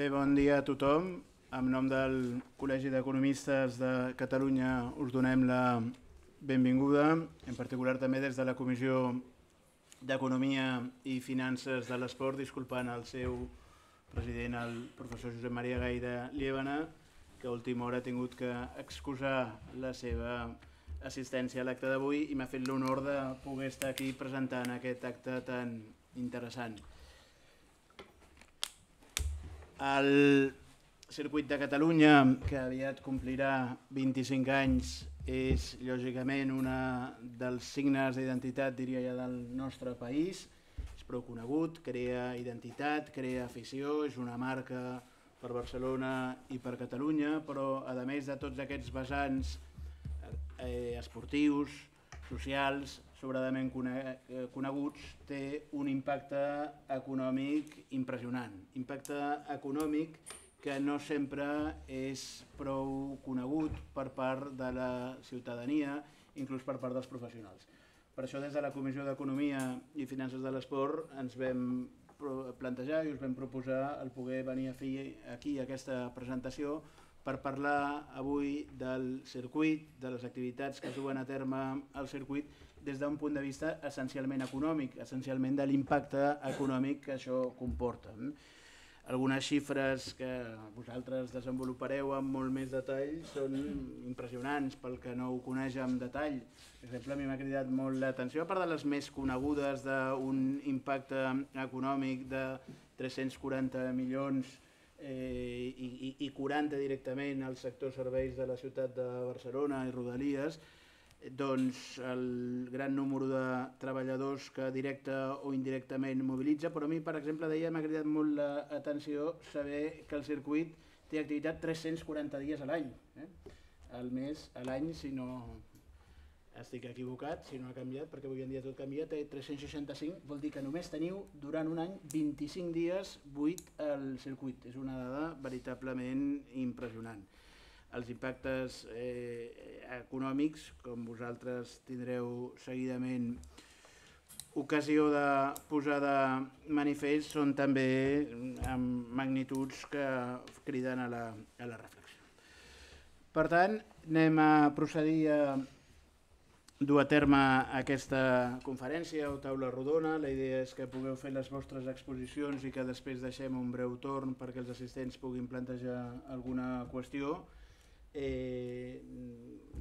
Bé, bon dia a tothom. En nom del Col·legi d'Economistes de Catalunya us donem la benvinguda, en particular també des de la Comissió d'Economia i Finances de l'Esport, disculpant el seu president, el professor Josep Maria Gai de Liébana, que a última hora ha tingut que excusar la seva assistència a l'acte d'avui i m'ha fet l'honor de poder estar aquí presentant aquest acte tan interessant. El circuit de Catalunya, que aviat complirà 25 anys, és lògicament un dels signes d'identitat, diria ja, del nostre país. És prou conegut, crea identitat, crea afició, és una marca per Barcelona i per Catalunya, però a més de tots aquests vessants esportius, socials, sobradament coneguts, té un impacte econòmic impressionant. Impacte econòmic que no sempre és prou conegut per part de la ciutadania, inclús per part dels professionals. Per això des de la Comissió d'Economia i Finances de l'Esport ens vam plantejar i us vam proposar el poder venir a fer aquí aquesta presentació per parlar avui del circuit, de les activitats que es duen a terme al circuit des d'un punt de vista essencialment econòmic, essencialment de l'impacte econòmic que això comporta. Algunes xifres que vosaltres desenvolupareu amb molt més detall són impressionants pel que no ho coneix en detall. Per exemple, a mi m'ha cridat molt l'atenció, a part de les més conegudes d'un impacte econòmic de 340 milions i 40 directament al sector serveis de la ciutat de Barcelona i Rodalies, doncs el gran número de treballadors que directa o indirectament mobilitza, però a mi, per exemple, m'ha cridat molt l'atenció saber que el circuit té activitat 340 dies a l'any, al mes, a l'any, si no estic equivocat, si no ha canviat, perquè avui en dia tot canvia, té 365, vol dir que només teniu durant un any 25 dies buit al circuit. És una dada veritablement impressionant. Els impactes econòmics, com vosaltres tindreu seguidament ocasió de posar de manifest, són també amb magnituds que criden a la reflexió. Per tant, anem a procedir a dur a terme aquesta conferència o taula rodona. La idea és que pugueu fer les vostres exposicions i que després deixem un breu torn perquè els assistents puguin plantejar alguna qüestió.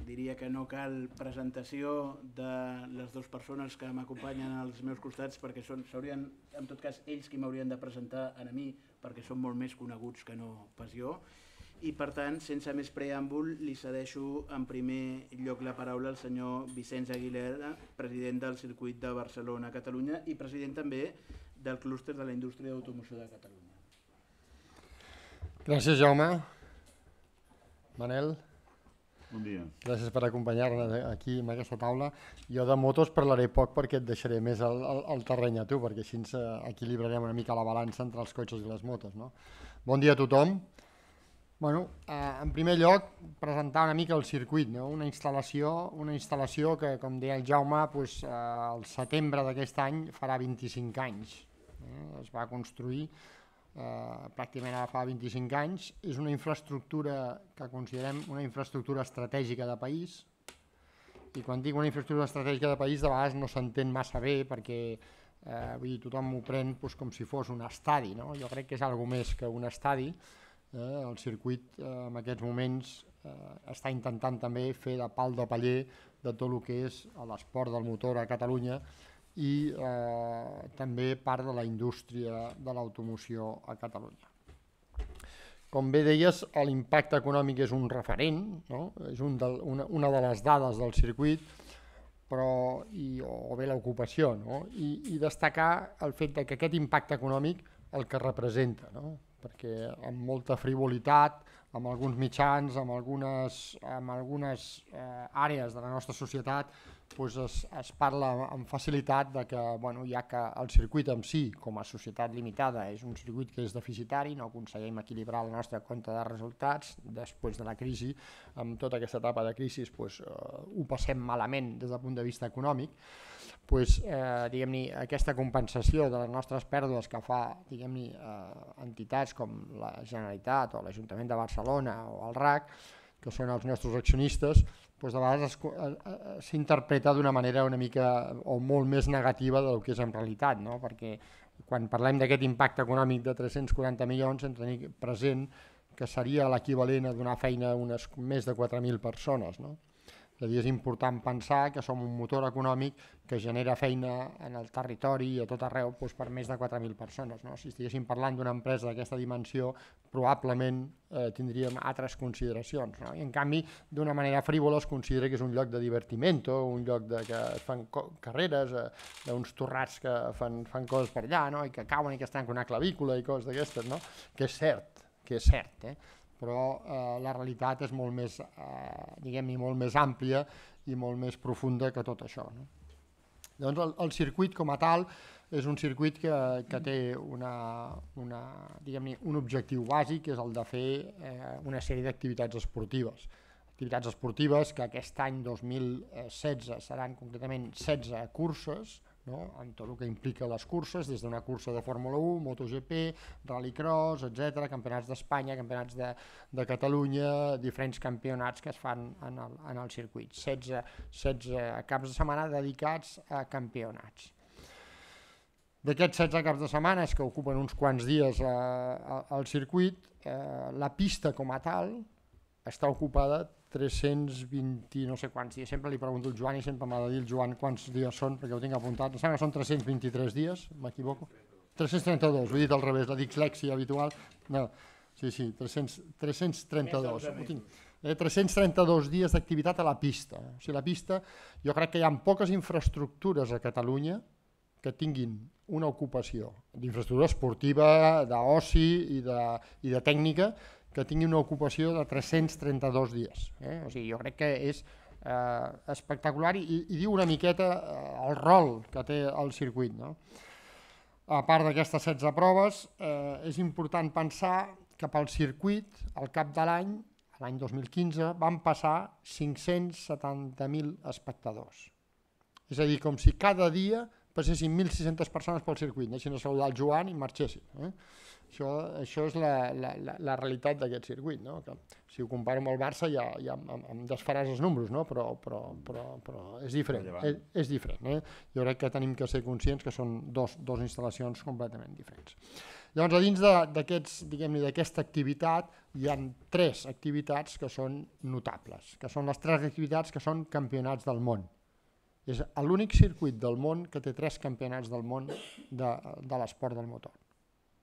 Diria que no cal presentació de les dues persones que m'acompanyen als meus costats perquè serien, en tot cas, ells qui m'haurien de presentar a mi perquè són molt més coneguts que no pas jo. I per tant, sense més preàmbul, li cedeixo en primer lloc la paraula al senyor Vicenç Aguilera, president del Circuit de Barcelona-Catalunya i president també del clúster de la indústria d'automoció de Catalunya. Gràcies, Jaume. Manel. Bon dia. Gràcies per acompanyar-nos aquí en aquesta taula. Jo de motos parlaré poc perquè et deixaré més al terreny a tu, perquè així ens equilibrarem una mica la balança entre els cotxes i les motos. Bon dia a tothom. En primer lloc, presentar una mica el circuit, una instal·lació que, com deia el Jaume, al setembre d'aquest any farà 25 anys. Es va construir pràcticament ara fa 25 anys. És una infraestructura que considerem una infraestructura estratègica de país, i quan dic una infraestructura estratègica de país de vegades no s'entén massa bé perquè tothom m'ho pren com si fos un estadi. Jo crec que és alguna més que un estadi. El circuit en aquests moments està intentant també fer de pal de paller de tot el que és l'esport del motor a Catalunya i també part de la indústria de l'automoció a Catalunya. Com bé deies, l'impacte econòmic és un referent, és una de les dades del circuit, o bé l'ocupació, i destacar el fet que aquest impacte econòmic el que representa, perquè amb molta frivolitat, amb alguns mitjans, amb algunes àrees de la nostra societat, es parla amb facilitat de que ja que el circuit en si, com a societat limitada, és un circuit que és deficitari, no aconseguim equilibrar el nostre compte de resultats després de la crisi. Amb tota aquesta etapa de crisi ho passem malament des del punt de vista econòmic, aquesta compensació de les nostres pèrdues que fa entitats com la Generalitat o l'Ajuntament de Barcelona o el RAC, que són els nostres accionistes, de vegades s'interpreta d'una manera una mica o molt més negativa del que és en realitat, no? Perquè quan parlem d'aquest impacte econòmic de 340 milions hem de tenir present que seria l'equivalent a donar feina a unes més de 4.000 persones, no? És a dir, és important pensar que som un motor econòmic que genera feina en el territori i a tot arreu per més de 4.000 persones, no? Si estiguéssim parlant d'una empresa d'aquesta dimensió, probablement tindríem altres consideracions, no? I en canvi, d'una manera frívola es considera que és un lloc de divertiment, un lloc que es fan carreres, d'uns torrats que fan coses per allà, no? I que cauen i que es tanca una clavícula i coses d'aquestes, no? Que és cert, però la realitat és molt més, molt més àmplia i molt més profunda que tot això, no? Doncs el circuit com a tal és un circuit que té un objectiu bàsic, que és el de fer una sèrie d'activitats esportives. Activitats esportives que aquest any 2016 seran concretament 16 curses, amb tot el que implica les curses, des d'una cursa de Fórmula 1, MotoGP, Rallycross, etc., campionats d'Espanya, campionats de Catalunya, diferents campionats que es fan en el circuit. 16 caps de setmana dedicats a campionats. D'aquests 16 caps de setmana que ocupen uns quants dies al circuit, la pista com a tal està ocupada 320 no sé quants dies, sempre li pregunto al Joan i sempre m'ha de dir el Joan quants dies són perquè ho tinc apuntat, em sembla que són 323 dies, m'equivoco? 332, ho he dit al revés, la dislèxia habitual, no, sí, 332, ho tinc. 332 dies d'activitat a la pista. O sigui, la pista, jo crec que hi ha poques infraestructures a Catalunya que tinguin una ocupació d'infraestructura esportiva, d'oci i de tècnica, que tingui una ocupació de 332 dies. O sigui, jo crec que és espectacular i diu una miqueta el rol que té el circuit, no? A part d'aquestes 16 proves, és important pensar que pel circuit, al cap de l'any 2015, van passar 570.000 espectadors. És a dir, com si cada dia passessin 1.600 persones pel circuit, anessin a saludar el Joan i marxessin. Això és la realitat d'aquest circuit, no? Que, si ho comparo amb el Barça ja em desfaràs els números, no? Però és diferent. És diferent. Jo crec que tenim que ser conscients que són dos instal·lacions completament diferents. Llavors, a dins d'aquesta activitat hi ha 3 activitats que són notables, que són les 3 activitats que són campionats del món. És l'únic circuit del món que té 3 campionats del món de l'esport del motor.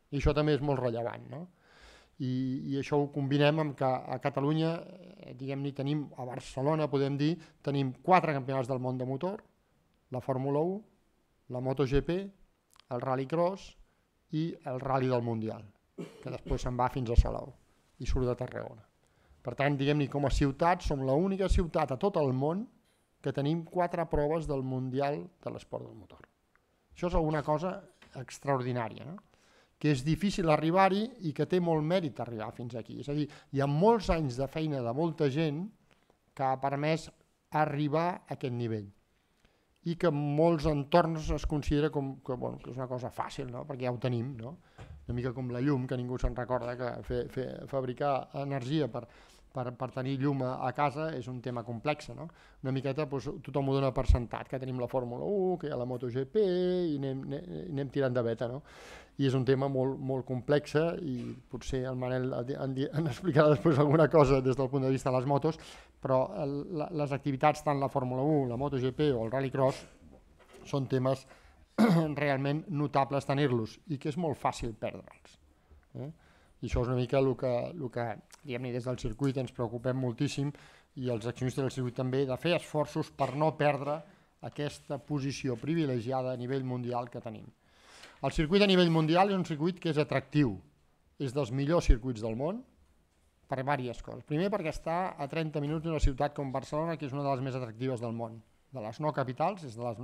I això també és molt rellevant, no? I això ho combinem amb que a Catalunya, tenim, a Barcelona podem dir, tenim 4 campionats del món de motor, la Fórmula 1, la MotoGP, el Rallycross i el Rally del Mundial, que després se'n va fins a Salou i surt de Tarragona. Per tant, com a ciutat, som l'única ciutat a tot el món que tenim 4 proves del Mundial de l'esport del motor. Això és alguna cosa extraordinària, no? Que és difícil arribar-hi i que té molt mèrit arribar fins aquí. És a dir, hi ha molts anys de feina de molta gent que ha permès arribar a aquest nivell i que en molts entorns es considera que és una cosa fàcil, no? Perquè ja ho tenim, no? Una mica com la llum, que ningú se'n recorda que fabricar energia per tenir llum a casa és un tema complex, no? Una miqueta tothom ho dona per sentat, que tenim la Fórmula 1, que hi ha la MotoGP i anem tirant de veta, no? I és un tema molt complex i potser el Manel en explicarà després alguna cosa des del punt de vista de les motos, però les activitats, tant la Fórmula 1, la MotoGP o el Rallycross, són temes realment notables tenir-los i que és molt fàcil perdre'ls. I això és una mica el que des del circuit ens preocupem moltíssim i els accionistes del circuit també, de fer esforços per no perdre aquesta posició privilegiada a nivell mundial que tenim. El circuit a nivell mundial és un circuit que és atractiu, és dels millors circuits del món per diverses coses. Primer perquè està a 30 minuts d'una ciutat com Barcelona, que és una de les més atractives del món. De les no capitals és de les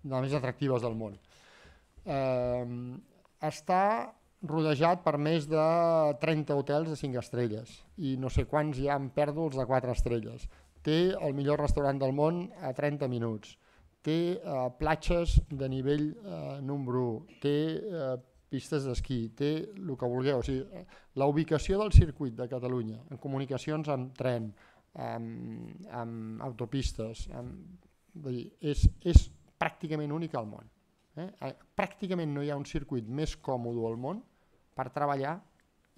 més atractives del món. Està rodejat per més de 30 hotels de 5 estrelles i no sé quants hi ha en pèrdols de 4 estrelles. Té el millor restaurant del món a 30 minuts. té platges de nivell número 1, té pistes d'esquí, té el que vulgueu. O sigui, la ubicació del circuit de Catalunya, en comunicacions amb tren, amb autopistes, és pràcticament únic al món. Pràcticament no hi ha un circuit més còmode al món per treballar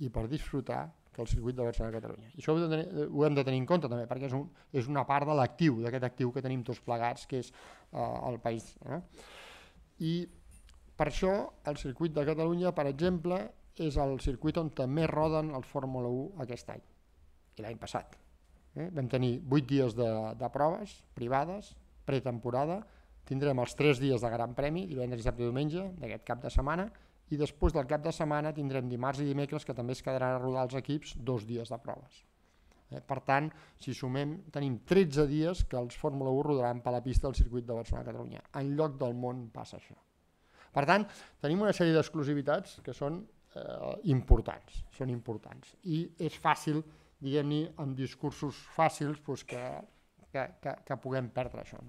i per disfrutar que el circuit de Barcelona-Catalunya. I això ho hem de tenir en compte també, perquè és una part de l'actiu, d'aquest actiu que tenim tots plegats, que és el país. I per això el circuit de Catalunya, per exemple, és el circuit on també roden el Fórmula 1 aquest any i l'any passat. Vam tenir 8 dies de proves privades, pretemporada, tindrem els 3 dies de Gran Premi, divendres, dissabte i diumenge, d'aquest cap de setmana, i després del cap de setmana tindrem dimarts i dimecres, que també es quedaran a rodar els equips, 2 dies de proves. Per tant, si sumem, tenim 13 dies que els Fórmula 1 rodaran per la pista del circuit de Barcelona-Catalunya. En lloc del món passa això. Per tant, tenim una sèrie d'exclusivitats que són importants, i és fàcil, diguem-ne, amb discursos fàcils, que puguem perdre això.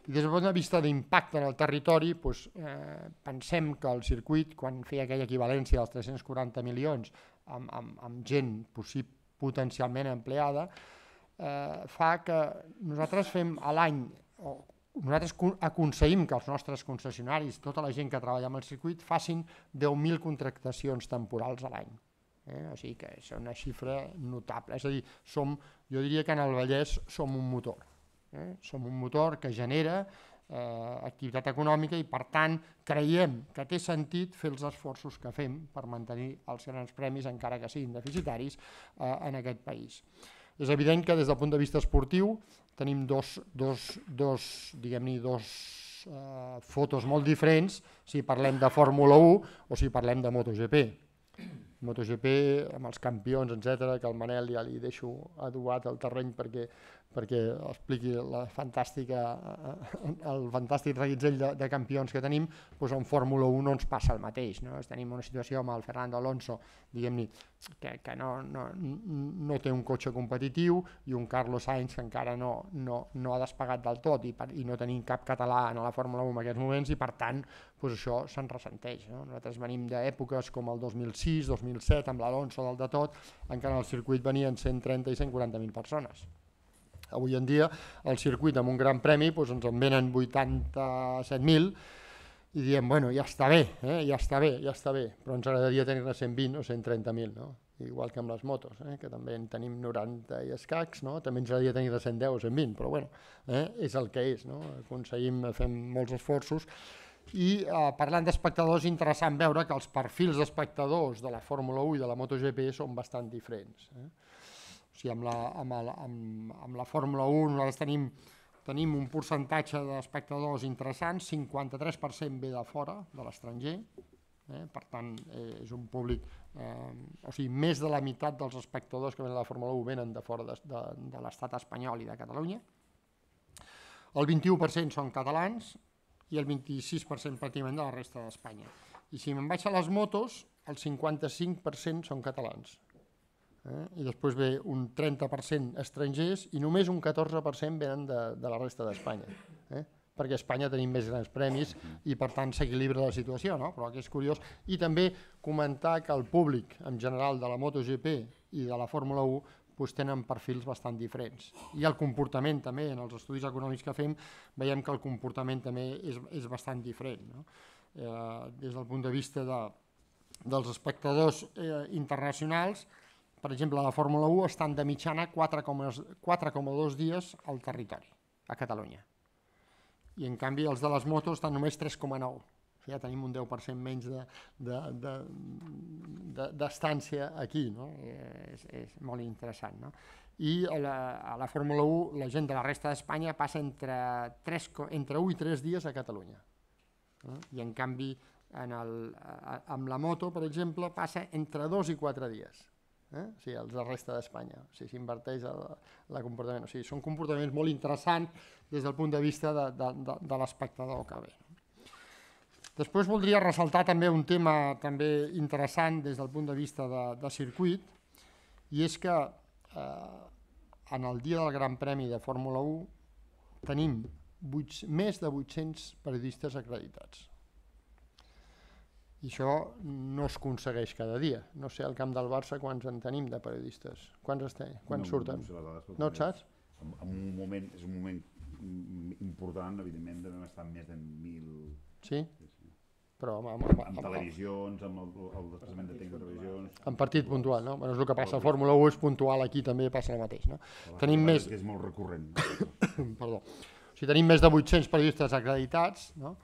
I des del punt de vista d'impacte en el territori, pensem que el circuit, quan feia aquella equivalència dels 340 milions amb gent potencialment empleada, fa que nosaltres fem a l'any, nosaltres aconseguim que els nostres concessionaris, tota la gent que treballa amb el circuit, facin 10.000 contractacions temporals a l'any. O sigui que és una xifra notable. És a dir, jo diria que en el Vallès som un motor. Som un motor que genera activitat econòmica i, per tant, creiem que té sentit fer els esforços que fem per mantenir els grans premis, encara que siguin deficitaris, en aquest país. És evident que des del punt de vista esportiu tenim dos fotos molt diferents si parlem de Fórmula 1 o si parlem de MotoGP. MotoGP, amb els campions, etc., que el Manel ja li deixo adobat al terreny perquè expliqui el fantàstic reguitzell de campions que tenim, doncs en Fórmula 1 no ens passa el mateix. Tenim una situació amb el Fernando Alonso, diguem-ne, que no té un cotxe competitiu, i un Carlos Sainz que encara no ha despegat del tot, i no tenim cap català en la Fórmula 1 en aquests moments, i per tant això se'n ressenteix. Nosaltres venim d'èpoques com el 2006, 2007, amb l'Alonso del de tot, encara al circuit venien 130 i 140.000 persones. Avui en dia el circuit amb un gran premi ens en venen 87.000 i diem, bueno, ja està bé, però ens agradaria tenir-ne 120 o 130.000, igual que amb les motos, que també en tenim 90 i escacs, també ens agradaria tenir-ne 110 o 120, però bueno, és el que és, aconseguim, fem molts esforços. I parlant d'espectadors, és interessant veure que els perfils d'espectadors de la Fórmula 1 i de la MotoGP són bastant diferents. O sigui, amb la Fórmula 1 nosaltres tenim un percentatge d'espectadors interessants, 53% ve de fora, de l'estranger, per tant és un públic, o sigui, més de la meitat dels espectadors que venen a la Fórmula 1 venen de fora de l'estat espanyol i de Catalunya, el 21% són catalans i el 26% pràcticament de la resta d'Espanya. I si me'n vaig a les motos, el 55% són catalans. I després ve un 30% estrangers i només un 14% venen de la resta d'Espanya, perquè a Espanya tenim més grans premis i per tant s'equilibra la situació, però que és curiós. I també comentar que el públic en general de la MotoGP i de la Fórmula 1 tenen perfils bastant diferents, i el comportament també, en els estudis econòmics que fem veiem que el comportament també és bastant diferent, des del punt de vista dels espectadors internacionals. Per exemple, a la Fórmula 1 estan de mitjana 4,2 dies al territori, a Catalunya. I en canvi els de les motos estan només 3,9. Ja tenim un 10% menys d'estància aquí. És molt interessant. I a la Fórmula 1 la gent de la resta d'Espanya passa entre 1 i 3 dies a Catalunya. I en canvi amb la moto, per exemple, passa entre 2 i 4 dies. Els de la resta d'Espanya, s'inverteix el comportament. Són comportaments molt interessants des del punt de vista de l'espectador que ve. Després voldria ressaltar també un tema també interessant des del punt de vista de circuit, i és que en el dia del Gran Premi de Fórmula 1 tenim més de 800 periodistes acreditats. I això no es aconsegueix cada dia. No sé, al camp del Barça quants en tenim de periodistes. Quants surten? No et saps? És un moment important, evidentment, devem estar més de 1.000... Sí? Però amb televisions, amb el desplaçament de temps de televisions... En partit puntual, no? És el que passa a Fórmula 1, és puntual, aquí també passa el mateix, no? Tenim més... És molt recurrent. Perdó. O sigui, tenim més de 800 periodistes acreditats, no?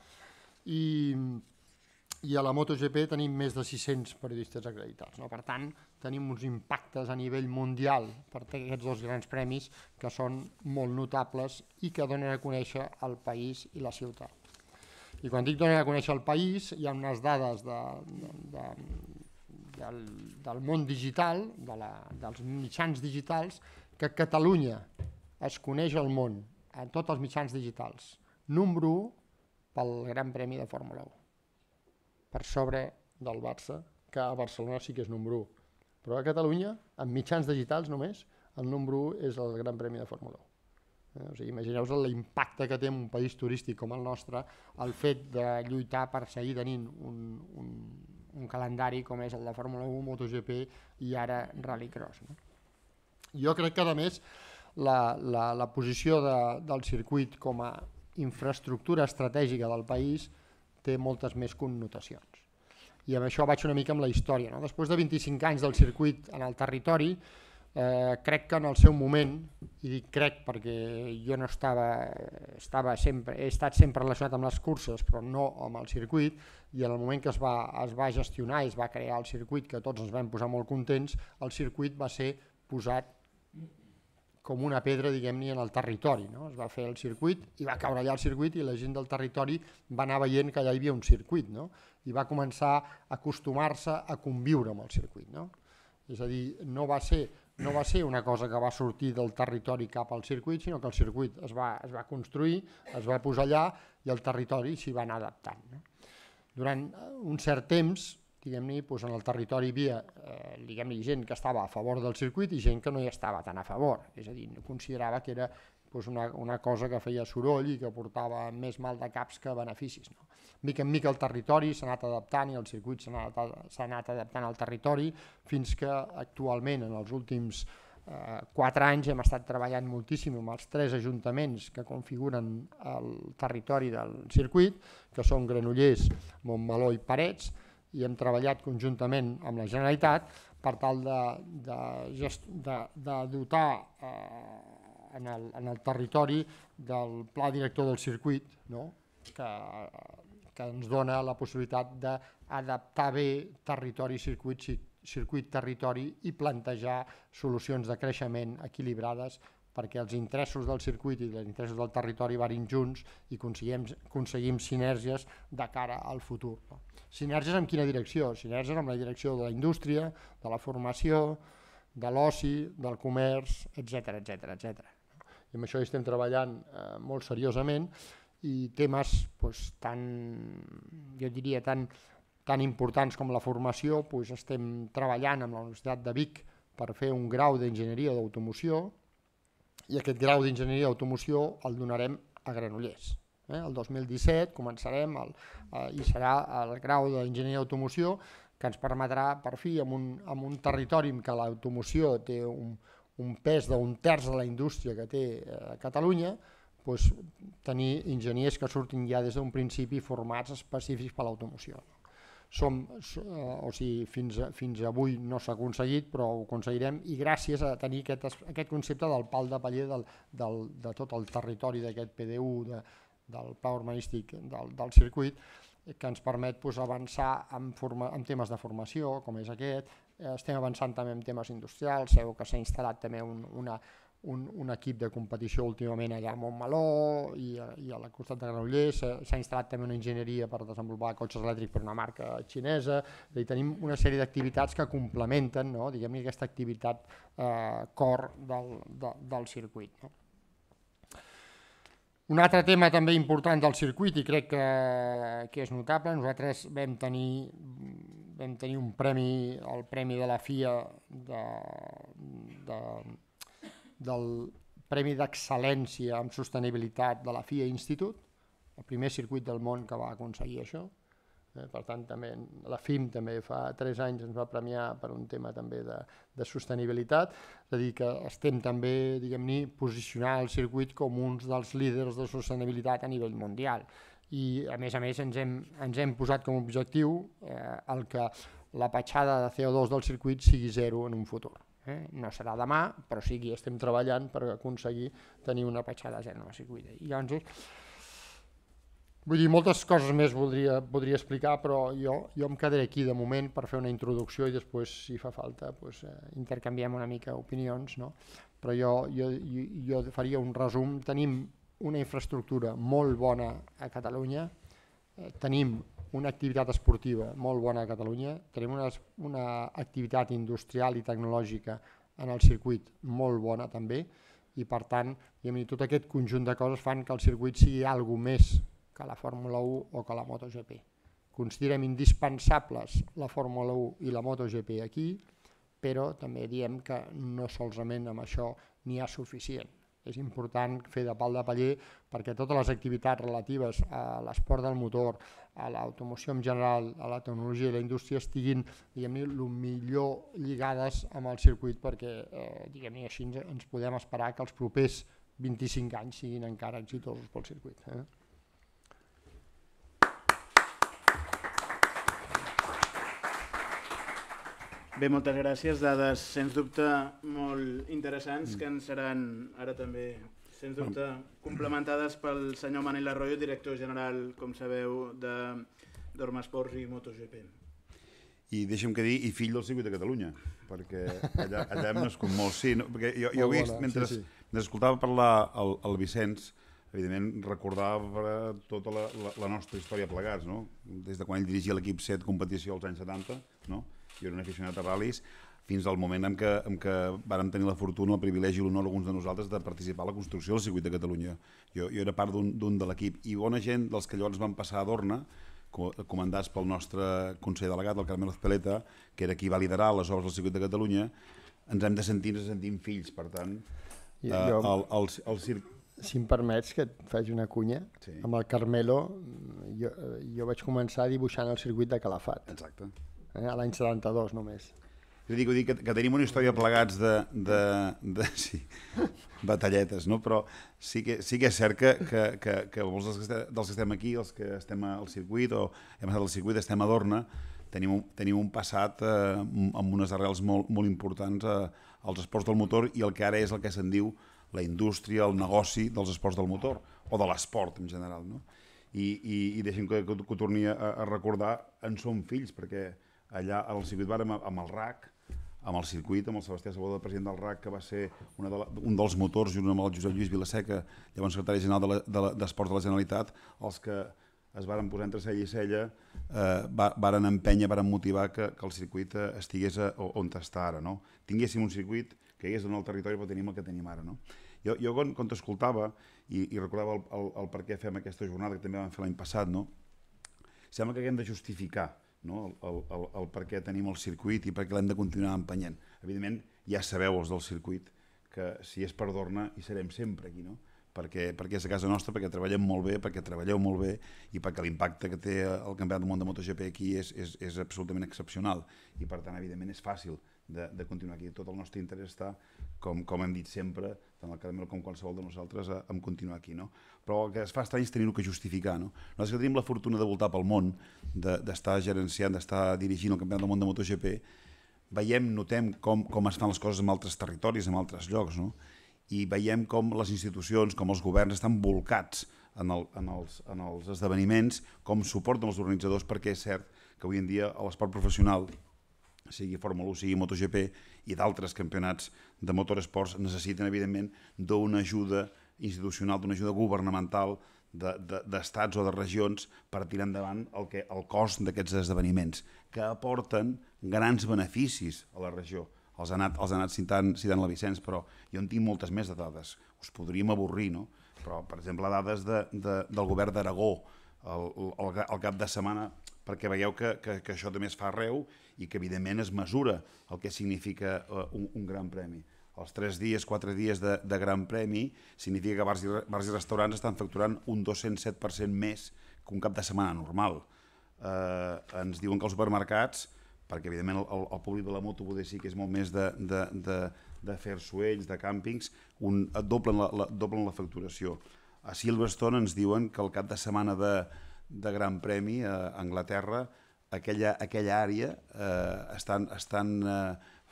I a la MotoGP tenim més de 600 periodistes acreditats, no? Per tant, tenim uns impactes a nivell mundial per aquests dos grans premis que són molt notables i que donen a conèixer el país i la ciutat. I quan dic donen a conèixer el país, hi ha unes dades del món digital, dels mitjans digitals, que Catalunya es coneix al món, en tots els mitjans digitals. Número 1 pel Gran Premi de Fórmula 1. Per sobre del Barça, que a Barcelona sí que és número 1. Però a Catalunya, en mitjans digitals només, el número 1 és el Gran Premi de Fórmula 1. O sigui, imagineu-vos l'impacte que té en un país turístic com el nostre el fet de lluitar per seguir tenint un calendari com és el de Fórmula 1, MotoGP i ara Rallycross. No? Jo crec que, a més, la posició del circuit com a infraestructura estratègica del país té moltes més connotacions. I amb això vaig una mica amb la història. No? Després de 25 anys del circuit en el territori, crec que en el seu moment, i dic crec perquè jo no he estat sempre relacionat amb les curses, però no amb el circuit, i en el moment que es va gestionar i es va crear el circuit, que tots ens vam posar molt contents, el circuit va ser posat com una pedra, diguem-ne, en el territori. No? Es va fer el circuit i va caure allà el circuit i la gent del territori va anar veient que allà hi havia un circuit, no? I va començar a acostumar-se a conviure amb el circuit. No? És a dir, no va ser una cosa que va sortir del territori cap al circuit, sinó que el circuit es va construir, es va posar allà i el territori s'hi va anar adaptant. No? Durant un cert temps, diguem-ne, doncs en el territori hi havia gent que estava a favor del circuit i gent que no hi estava tan a favor, és a dir, considerava que era una cosa que feia soroll i que portava més mal de caps que beneficis. No? Mica en mica el territori s'ha anat adaptant i el circuit s'ha anat adaptant al territori fins que actualment, en els últims 4 anys, hem estat treballant moltíssim amb els 3 ajuntaments que configuren el territori del circuit, que són Granollers, Montmeló i Parets, i hem treballat conjuntament amb la Generalitat per tal de dotar en el territori del pla director del circuit, no? que ens dona la possibilitat d'adaptar bé territori-circuit-territori i plantejar solucions de creixement equilibrades perquè els interessos del circuit i els interessos del territori vagin junts i aconseguim sinergies de cara al futur. No? Sinergies en quina direcció? Sinergies en la direcció de la indústria, de la formació, de l'oci, del comerç, etc. I amb això hi estem treballant molt seriosament i temes tan importants com la formació, estem treballant amb la Universitat de Vic per fer un grau d'enginyeria d'automoció i aquest grau d'enginyeria d'automoció el donarem a Granollers. El 2017 començarem i serà el grau d'enginyeria d'automoció que ens permetrà, per fi, en un territori en què l'automoció té un pes d'un terç de la indústria que té Catalunya, tenir enginyers que surtin ja des d'un principi formats específics per l'automoció. Fins avui no s'ha aconseguit, però ho aconseguirem i gràcies a tenir aquest concepte del pal de paller de tot el territori d'aquest PDU, del pla urbanístic del circuit, que ens permet avançar en temes de formació, com és aquest. Estem avançant també en temes industrials, sabeu que s'ha instal·lat també un equip de competició últimament allà a Montmeló i al costat de Granollers. S'ha instal·lat també una enginyeria per desenvolupar cotxes elèctrics per una marca xinesa. Tenim una sèrie d'activitats que complementen, no? Diguem-ne, aquesta activitat core del circuit. No? Un altre tema també important del circuit i crec que és notable, nosaltres vam tenir un premi, el premi de la FIA del Premi d'Excel·lència en Sostenibilitat de la FIA Institute, el primer circuit del món que va aconseguir això. Per tant, també la FIM també fa 3 anys ens va premiar per un tema també de sostenibilitat, és a dir, que estem també, diguem-ne, posicionant el circuit com uns dels líders de sostenibilitat a nivell mundial. I a més ens hem posat com a objectiu el que la petjada de CO2 del circuit sigui zero en un futur. No serà demà, però sí que estem treballant per aconseguir tenir una petjada zero en el circuit. I llavors, vull dir, moltes coses més podria explicar, però jo em quedaré aquí de moment per fer una introducció i després, si fa falta, intercanviem una mica opinions, no? Però jo faria un resum. Tenim una infraestructura molt bona a Catalunya, tenim una activitat esportiva molt bona a Catalunya, tenim una activitat industrial i tecnològica en el circuit molt bona també, i per tant, tot aquest conjunt de coses fan que el circuit sigui alguna més que la Fórmula 1 o que la MotoGP. Considerem indispensables la Fórmula 1 i la MotoGP aquí, però també diem que no solament amb això n'hi ha suficient. És important fer de pal de paller perquè totes les activitats relatives a l'esport del motor, a l'automoció en general, a la tecnologia i la indústria estiguin el millor lligades amb el circuit, perquè així ens podem esperar que els propers 25 anys siguin encara exitosos pel circuit. Bé, moltes gràcies. Dades, sens dubte, molt interessants, que ens seran ara també, sens dubte, complementades pel senyor Manel Arroyo, director general, com sabeu, d'Ormasports i MotoGP. I deixa'm que dir, i fill del circuit de Catalunya, perquè allà hem nascut molt. Sí, perquè jo he vist, mentre escoltava parlar el Vicenç, evidentment recordava tota la nostra història plegats, no? Des de quan ell dirigia l'equip 7 competició als anys 70, no? Jo era un aficionat a ral·lis, fins al moment en què vàrem tenir la fortuna, el privilegi i l'honor alguns de nosaltres de participar a la construcció del circuit de Catalunya. Jo era part d'un de l'equip, i bona gent dels que llavors van passar a Dorna, comandats pel nostre conseller delegat, el Carmelo Ezpeleta, que era qui va liderar les obres del circuit de Catalunya, ens hem de sentir fills, per tant, el circuit. Si em permets que et faci una cunya, amb el Carmelo jo vaig començar dibuixant el circuit de Calafat. Exacte. A l'any 72 només. Jo dic que tenim una història plegats de batalletes, no? Però sí que és cert que molts dels que estem aquí, els que estem al circuit o hem estat al circuit, estem a Dorna, tenim un passat amb unes arrels molt importants als esports del motor i el que ara és el que se'n diu la indústria, el negoci dels esports del motor, o de l'esport en general, no? I deixem que ho torni a recordar, en som fills, perquè allà al circuit vàrem amb el RAC, amb el circuit, amb el Sebastià Saboda, president del RAC, que va ser un dels motors, junt amb el Josep Lluís Vilaseca, llavors secretari general d'Esports de la Generalitat, els que es varen posar entre cella i cella, varen empènyer, varen motivar que el circuit estigués on està ara, no? Tinguéssim un circuit que hi és en el territori, però tenim el que tenim ara, no? Jo quan t'escoltava i recordava el per què fem aquesta jornada, que també vam fer l'any passat, no? Sembla que haguem de justificar el per què tenim el circuit i per què l'hem de continuar empenyent. Evidentment, ja sabeu els del circuit que si és per Dorna hi serem sempre aquí, no? Perquè és a casa nostra, perquè treballem molt bé, perquè treballeu molt bé i perquè l'impacte que té el Campionat del Món de MotoGP aquí és absolutament excepcional i per tant, evidentment, és fàcil de continuar aquí. Tot el nostre interès està, com hem dit sempre, tant el Carmelo com qualsevol de nosaltres, en continuar aquí, no? Però el que es fa estrany és tenir-ho que justificar, no? Nosaltres que tenim la fortuna de voltar pel món, d'estar gerenciant, d'estar dirigint el Campionat del Món de MotoGP, veiem, notem com es fan les coses en altres territoris, en altres llocs, no? I veiem com les institucions, com els governs estan volcats en els esdeveniments, com suporten els organitzadors, perquè és cert que avui en dia l'esport professional, sigui Fórmula 1, sigui MotoGP i d'altres campionats de motoresports, necessiten, evidentment, d'una ajuda institucional, d'una ajuda governamental d'estats o de regions per tirar endavant el cost d'aquests esdeveniments, que aporten grans beneficis a la regió. Els ha anat citant la Vicenç, però jo en tinc moltes més de dades. Us podríem avorrir, no? Però, per exemple, dades del govern d'Aragó al cap de setmana, perquè veieu que això també es fa arreu i que, evidentment, es mesura el que significa un gran premi. els 3 dies, 4 dies de Gran Premi, significa que bars i restaurants estan facturant un 207% més que un cap de setmana normal. Ens diuen que els supermercats, perquè evidentment el públic de la moto poder sí que és molt més de fer suells, de càmpings, doblen la facturació. A Silverstone ens diuen que el cap de setmana de Gran Premi a Anglaterra, aquella àrea estan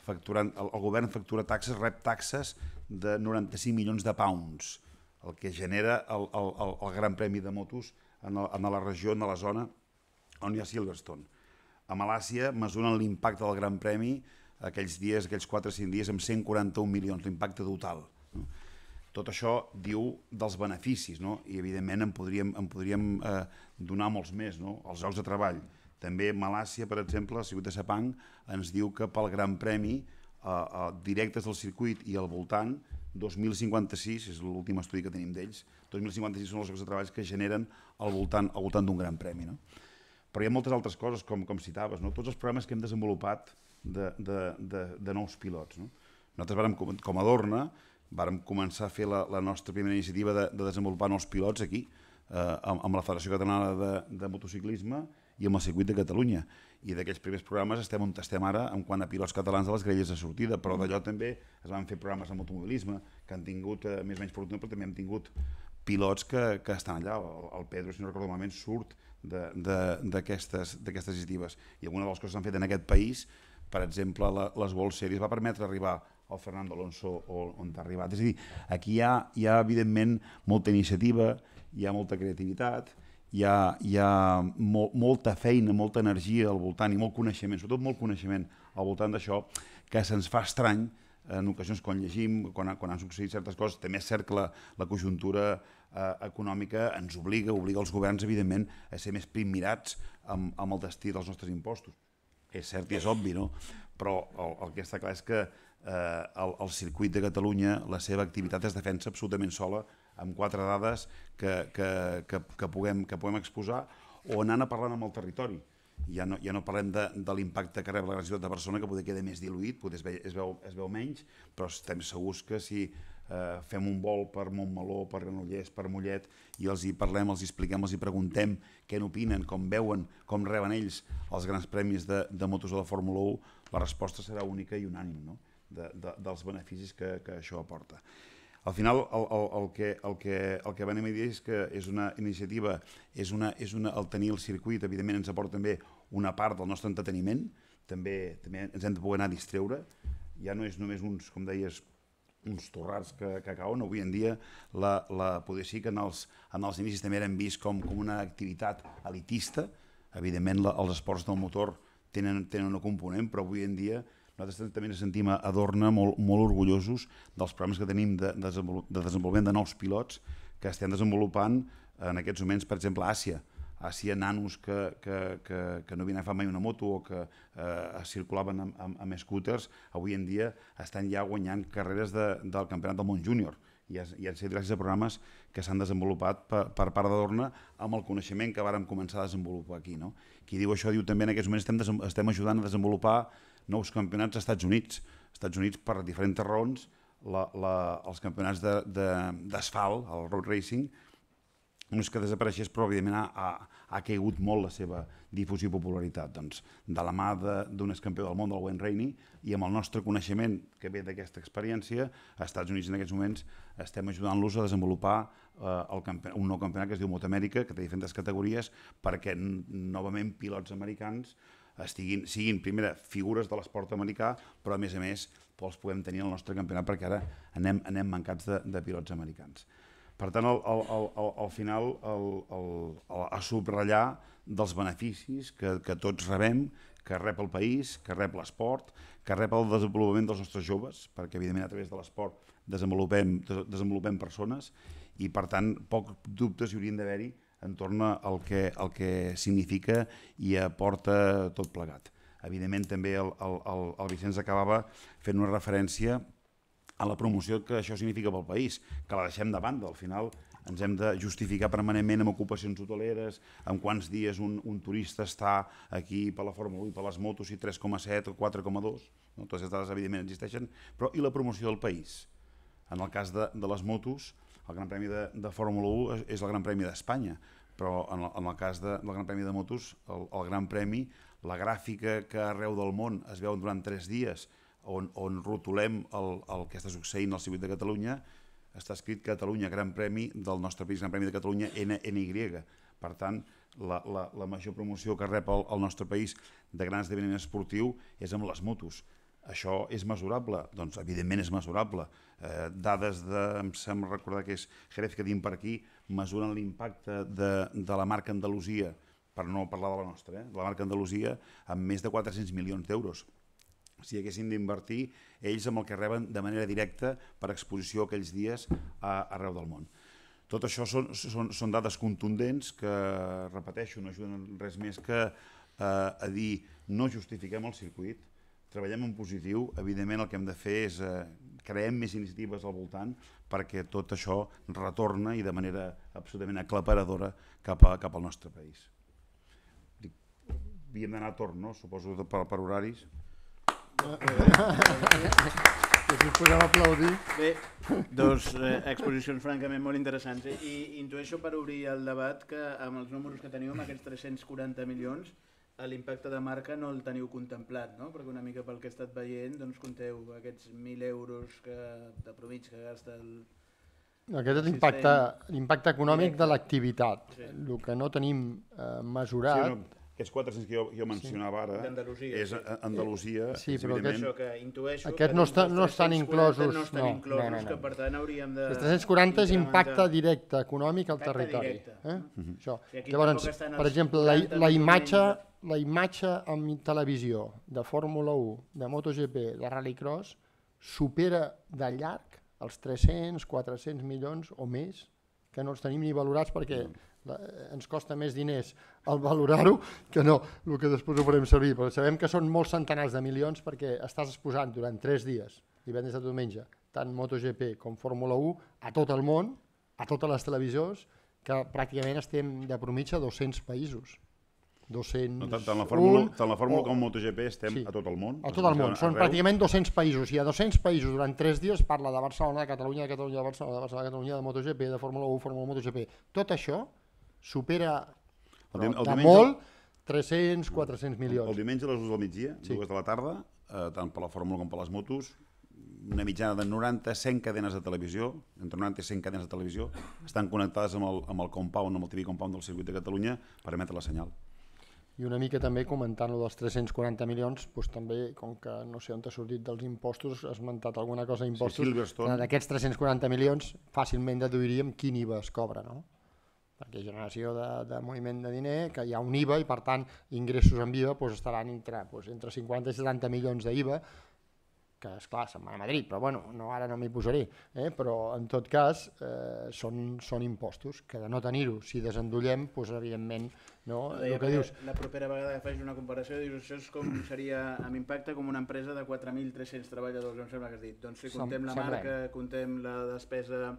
facturant, el govern factura taxes, rep taxes de 95 milions de pounds, el que genera el Gran Premi de motos en la regió, en la zona on hi ha Silverstone. A Malàisia mesuren l'impacte del Gran Premi aquells dies, aquells 4 o 5 dies, amb 141 milions, l'impacte total. Tot això diu dels beneficis, i evidentment en podríem donar molts més, els llocs de treball. També Malàisia, per exemple, el circuit de Sepang, ens diu que pel Gran Premi, directes del circuit i al voltant, 2056, és l'últim estudi que tenim d'ells, 2056 són els llocs de treball que generen al voltant d'un Gran Premi. Però hi ha moltes altres coses, com citaves, tots els programes que hem desenvolupat de nous pilots. Nosaltres, com a Dorna, vàrem començar a fer la nostra primera iniciativa de desenvolupar nous pilots aquí, amb la Federació Catalana de Motociclisme i amb el Circuit de Catalunya. I d'aquells primers programes estem on estem ara en quant a pilots catalans de les grelles de sortida, però d'allò també es van fer programes de motomobilisme que han tingut més o menys fortuna, però també hem tingut pilots que estan allà. El Pedro, si no recordo malament, surt d'aquestes iniciatives. I alguna de les coses que s'han fet en aquest país, per exemple, les World Series, va permetre arribar al Fernando Alonso on ha arribat. És a dir, aquí hi ha evidentment molta iniciativa, hi ha molta creativitat, hi ha molta feina, molta energia al voltant i molt coneixement, sobretot molt coneixement al voltant d'això, que se'ns fa estrany en ocasions quan llegim, quan han succeït certes coses. També és cert que la conjuntura econòmica ens obliga els governs, evidentment, a ser més primmirats amb el destí dels nostres impostos. És cert i és obvi, però el que està clar és que el circuit de Catalunya, la seva activitat es defensa absolutament sola, amb 4 dades que puguem exposar o anant a parlar amb el territori. Ja no parlem de l'impacte que rep la gran ciutat de Barcelona, que potser queda més diluït, potser es veu menys, però estem segurs que si fem un vol per Montmeló, per Granollers, per Mollet, i els hi parlem, els hi expliquem, els hi preguntem què n'opinen, com veuen, com reben ells els grans premis de motos de la Fórmula 1, la resposta serà única i unànime, dels beneficis que això aporta. Al final, el que venim a dir és que és una iniciativa, el tenir el circuit, evidentment ens aporta també una part del nostre entreteniment, també ens hem de poder anar a distreure, ja no és només uns, com deies, uns torrats que cauen. Avui en dia poder sí que en els inicis també eren vist com una activitat elitista. Evidentment els esports del motor tenen un component, però avui en dia nosaltres també ens sentim a Dorna molt orgullosos dels programes que tenim de desenvolupament de nous pilots que estem desenvolupant en aquests moments, per exemple, a Àsia. Àsia, nanos que no havien agafat mai una moto o que circulaven amb scooters, avui en dia estan ja guanyant carreres del Campionat del Món Júnior. I han sigut gràcies a programes que s'han desenvolupat per part de Dorna amb el coneixement que vàrem començar a desenvolupar aquí. Qui diu això diu també en aquests moments estem ajudant a desenvolupar nous campionats als Estats Units. Als Estats Units, per diferents raons, els campionats d'asfalt, el road racing, no és que desapareixés, però evidentment ha caigut molt la seva difusió i popularitat. Doncs, de la mà d'un excampió del món, del Wayne Rainey, i amb el nostre coneixement que ve d'aquesta experiència, als Estats Units en aquests moments estem ajudant-los a desenvolupar un nou campionat que es diu Motoamèrica, que té diferents categories, perquè novament pilots americans siguin, primera, figures de l'esport americà, però a més els podem tenir al nostre campionat, perquè ara anem mancats de pilots americans. Per tant, al final, a subratllar dels beneficis que tots rebem, que rep el país, que rep l'esport, que rep el desenvolupament dels nostres joves, perquè evidentment a través de l'esport desenvolupem persones i per tant pocs dubtes hi haurien d'haver-hi entorn al que significa i aporta tot plegat. Evidentment també el Vicenç acabava fent una referència a la promoció que això significa pel país, que la deixem de banda. Al final ens hem de justificar permanentment amb ocupacions hoteleres, amb quants dies un turista està aquí per la Fórmula 1 i per les motos, i 3,7 o 4,2, no? Totes aquestes dades evidentment existeixen, però i la promoció del país? En el cas de les motos, el Gran Premi de Fórmula 1 és el Gran Premi d'Espanya, però en el cas del Gran Premi de motos, el Gran Premi, la gràfica que arreu del món es veu durant 3 dies, on rotulem el que està succeint al circuit de Catalunya, està escrit Catalunya, Gran Premi del nostre país, Gran Premi de Catalunya, NY. Per tant, la major promoció que rep el nostre país de grans esdeveniments esportius és amb les motos. Això és mesurable? Doncs evidentment és mesurable. Dades em sembla recordar que és Jerez que tenim per aquí, mesuren l'impacte de la marca Andalusia, per no parlar de la nostra, de la marca Andalusia, amb més de 400 milions d'euros. Si haguessin d'invertir ells amb el que reben de manera directa per exposició aquells dies arreu del món. Tot això són dades contundents que, repeteixo, no ajuden res més que a dir no justifiquem el circuit, treballem en positiu, evidentment el que hem de fer és creem més iniciatives al voltant perquè tot això retorna i de manera absolutament aclaparadora cap al nostre país. Havíem d'anar a torn, no? Suposo per horaris. Si us podem aplaudir. Bé, dos exposicions francament molt interessants. I intueixo per obrir el debat que amb els números que teniu, amb aquests 340 milions, l'impacte de marca no el teniu contemplat, no? Perquè una mica pel que he estat veient, doncs compteu aquests 1.000 euros de promig que gasta el... Aquest és l'impacte econòmic de l'activitat. El que no tenim mesurat... Aquests 400 que jo mencionava ara és Andalusia, evidentment. Intueixo aquests no estan inclosos. Que per tant hauríem de... Els 340 és impacte directe econòmic al territori. Llavors, per exemple, la imatge en televisió de Fórmula 1, de MotoGP, de Rallycross, supera de llarg els 300, 400 milions o més, que no els tenim ni valorats perquè ens costa més diners el valorar-ho que no el que després ho farem servir, però sabem que són molts centenars de milions perquè estàs exposant durant 3 dies, divendres a diumenge, tant MotoGP com Fórmula 1 a tot el món, a totes les televisions, que pràcticament estem de promitja a 200 països. 200... Tant la Fórmula com MotoGP estem a tot el món. A tot el món, són pràcticament 200 països, i a 200 països durant 3 dies parla de Barcelona, de Catalunya, de Barcelona, de Catalunya, de MotoGP, de Fórmula 1, Fórmula 1, MotoGP. Tot això supera de molt 300, 400 milions. El diumenge a les 2 del migdia, 2 de la tarda, tant per la Fórmula com per les motos, una mitjana de 90-100 cadenes de televisió, entre 90 i 100 cadenes de televisió, estan connectades amb el compound, amb el TV compound del circuit de Catalunya per emetre la senyal. I una mica també comentant-lo dels 340 milions, doncs també, com que no sé on t'ha sortit dels impostos, has esmentat alguna cosa d'impostos, d'aquests 340 milions fàcilment deduiríem quin IVA es cobra, no? Perquè generació de moviment de diner, que hi ha un IVA i per tant ingressos en IVA estaran entre 50 i 70 milions d'IVA, que esclar, se'n van a Madrid, però bueno, ara no m'hi posaré, però en tot cas són impostos, que de no tenir-ho, si desendollem, doncs evidentment, no? La propera vegada que faig una comparació, dius, això és com seria amb impacte com una empresa de 4.300 treballadors, em sembla que has dit. Doncs si contem la marca, contem la despesa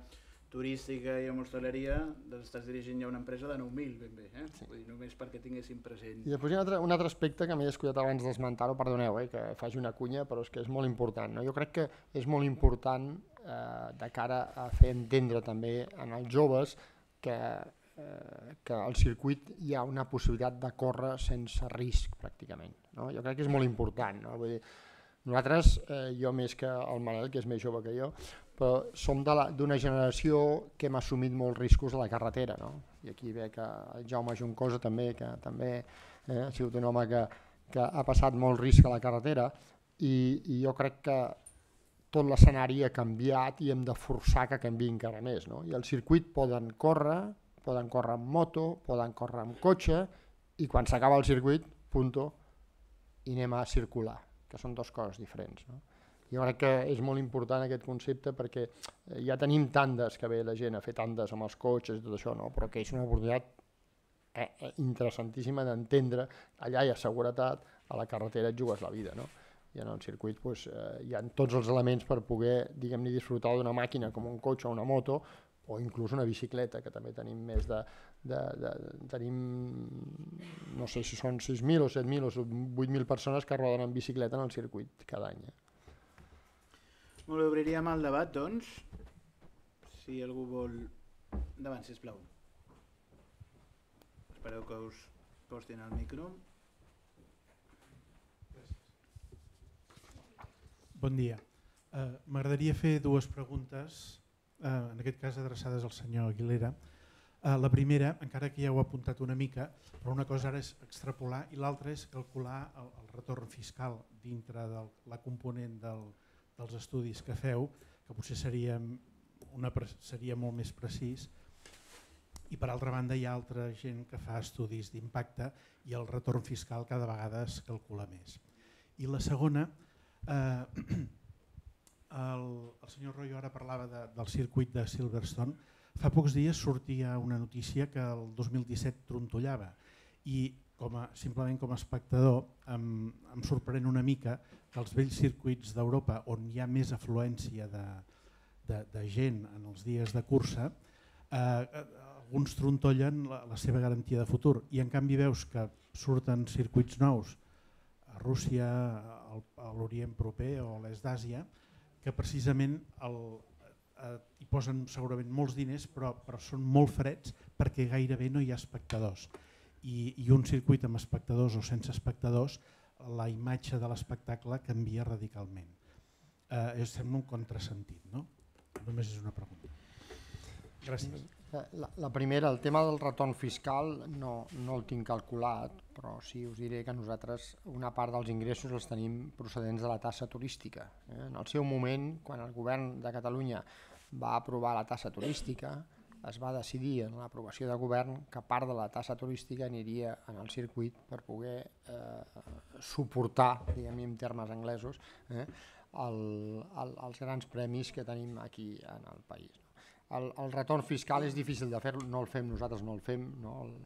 turística i amb hostaleria, estàs dirigint ja una empresa de 9.000, ben bé, vull dir, només perquè tinguéssim present. I després hi ha un altre aspecte que m'he descuidat abans d'esmentar-ho, perdoneu, que faci una cunya, però és que és molt important. Jo crec que és molt important de cara a fer entendre també en els joves que al circuit hi ha una possibilitat de córrer sense risc, pràcticament. Jo crec que és molt important. Vull dir, nosaltres, jo més que el Manel, que és més jove que jo, però som d'una generació que hem assumit molts riscos a la carretera, no? I aquí ve que el Jaume Juncosa també, que també ha sigut un home que ha passat molt risc a la carretera, i jo crec que tot l'escenari ha canviat i hem de forçar que canviï encara més, no? I al circuit poden córrer amb moto, poden córrer amb cotxe, i quan s'acaba el circuit, punto, i anem a circular, que són dues coses diferents, no? Jo crec que és molt important aquest concepte perquè ja tenim tandes que ve la gent a fer tandes amb els cotxes i tot això, no? Però que és una oportunitat interessantíssima d'entendre, allà hi ha seguretat, a la carretera et jugues la vida, no? I en el circuit hi ha tots els elements per poder, diguem-ne, disfrutar d'una màquina com un cotxe o una moto o inclús una bicicleta, que també tenim més tenim, no sé si són 6.000 o 7.000 o 8.000 persones que roden en bicicleta en el circuit cada any. Molt bé, obriríem el debat, doncs. Si algú vol... Endavant, sisplau. Espereu que us postin el micro. Bon dia. M'agradaria fer dues preguntes, en aquest cas adreçades al senyor Aguilera. La primera, encara que ja ho he apuntat una mica, però una cosa ara és extrapolar i l'altra és calcular el retorn fiscal dintre de la component dels estudis que feu, que potser seria molt més precís. I per altra banda hi ha altra gent que fa estudis d'impacte i el retorn fiscal cada vegada es calcula més. I la segona, el senyor Royo ara parlava del circuit de Silverstone. Fa pocs dies sortia una notícia que el 2017 trontollava i simplement com a espectador em sorprèn una mica que els vells circuits d'Europa on hi ha més afluència de gent en els dies de cursa, alguns trontollen la seva garantia de futur i en canvi veus que surten circuits nous a Rússia, a l'Orient proper o a l'est d'Àsia, que precisament hi posen segurament molts diners però són molt freds perquè gairebé no hi ha espectadors. I un circuit amb espectadors o sense espectadors, la imatge de l'espectacle canvia radicalment. Sembla un contrasentit, no? Només és una pregunta. Gràcies. La primera, el tema del retorn fiscal no el tinc calculat, però sí us diré que nosaltres una part dels ingressos els tenim procedents de la taxa turística. En el seu moment, quan el govern de Catalunya va aprovar la taxa turística, es va decidir en l'aprovació de govern que part de la taxa turística aniria en el circuit per poder suportar, diguem-ne en termes anglesos, els grans premis que tenim aquí en el país. El retorn fiscal és difícil de fer, no el fem, nosaltres no el fem,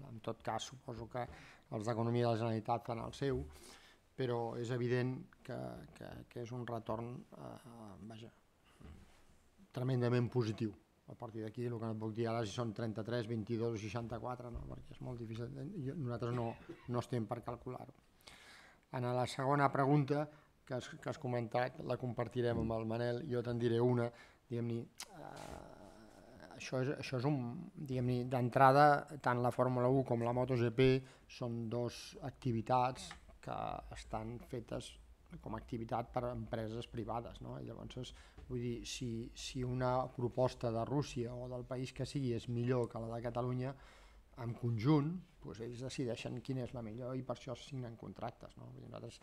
en tot cas suposo que els d'Economia de la Generalitat fan el seu, però és evident que és un retorn tremendament positiu. A partir d'aquí el que no puc dir ara si són 33, 22 o 64, perquè és molt difícil, nosaltres no estem per calcular-ho. En la segona pregunta que has comentat, la compartirem amb el Manel, jo te'n diré una, diguem-ne, això és diguem-ne, d'entrada, tant la Fórmula 1 com la MotoGP són dues activitats que estan fetes com a activitat per a empreses privades, no? I llavors, vull dir, si una proposta de Rússia o del país que sigui és millor que la de Catalunya, en conjunt, doncs ells decideixen quina és la millor i per això es signen contractes, no? Vull dir,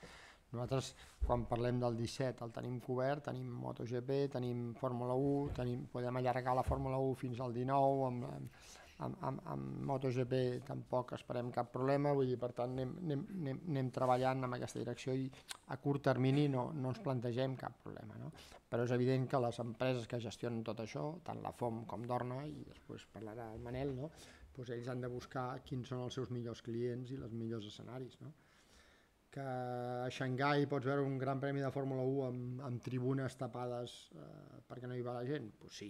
nosaltres, quan parlem del 17, el tenim cobert, tenim MotoGP, tenim Fórmula 1, podem allargar la Fórmula 1 fins al 19, amb MotoGP tampoc esperem cap problema, vull dir, per tant anem treballant en aquesta direcció i a curt termini no ens plantegem cap problema, no? Però és evident que les empreses que gestionen tot això, tant la FOM com Dorna, i després parlarà el Manel, no? Doncs ells han de buscar quins són els seus millors clients i els millors escenaris, no? Que a Xangai pots veure un gran premi de Fórmula 1 amb tribunes tapades perquè no hi va la gent? Doncs sí,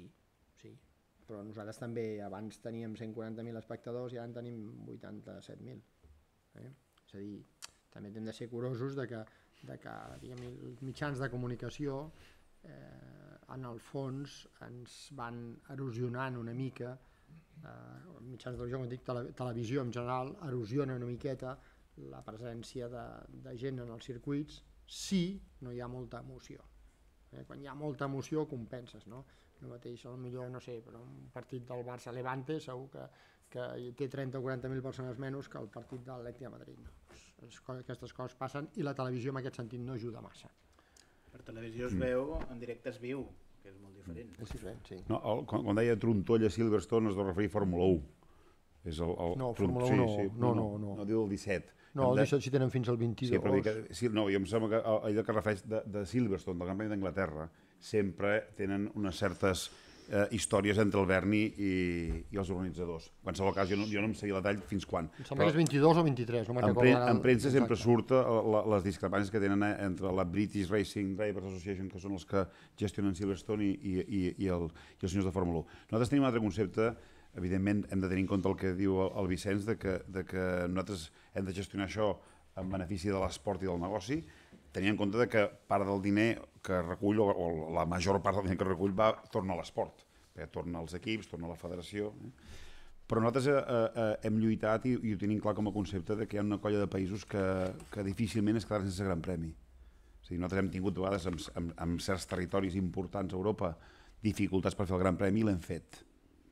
però nosaltres també abans teníem 140.000 espectadors i ara en tenim 87.000. És a dir, també hem de ser curosos de que diguem, els mitjans de comunicació en el fons ens van erosionant una mica, mitjans de televisió, quan dic televisió en general, erosiona una miqueta la presència de gent en els circuits si no hi ha molta emoció. Quan hi ha molta emoció compenses, no? El mateix, potser, no sé, però un partit del Barça-Levante segur que té 30 o 40.000 persones menys que el partit de l'Atlètic de Madrid. Aquestes coses passen i la televisió en aquest sentit no ajuda massa. Per televisió es veu, en directe es viu, que és molt diferent. És diferent, sí. Quan deia Trontolla Silverstone es deu referir a Fórmula 1. No, Fórmula 1 no. No, diu el 17. No, el 17 si tenen fins al 22. Sí, no, jo em sembla que allò que refereix de Silverstone, del Gran Premi d'Anglaterra, sempre tenen unes certes històries entre el Berni i els organitzadors. En qualsevol cas, jo no em seguia la tall fins quan. Em sembla que és 22 o 23. En premsa sempre surt les discrepàncies que tenen entre la British Racing Drivers Association, que són els que gestionen Silverstone, i els senyors de Fórmula 1. Nosaltres tenim un altre concepte. Evidentment, hem de tenir en compte el que diu el Vicenç, de que nosaltres hem de gestionar això en benefici de l'esport i del negoci, tenint en compte que part del diner que recull, o la major part del diner que recull, torna a l'esport, perquè torna als equips, torna a la federació. Però nosaltres hem lluitat i ho tenim clar com a concepte que hi ha una colla de països que difícilment es quedaran sense gran premi. O sigui, nosaltres hem tingut a vegades en certs territoris importants a Europa dificultats per fer el gran premi i l'hem fet.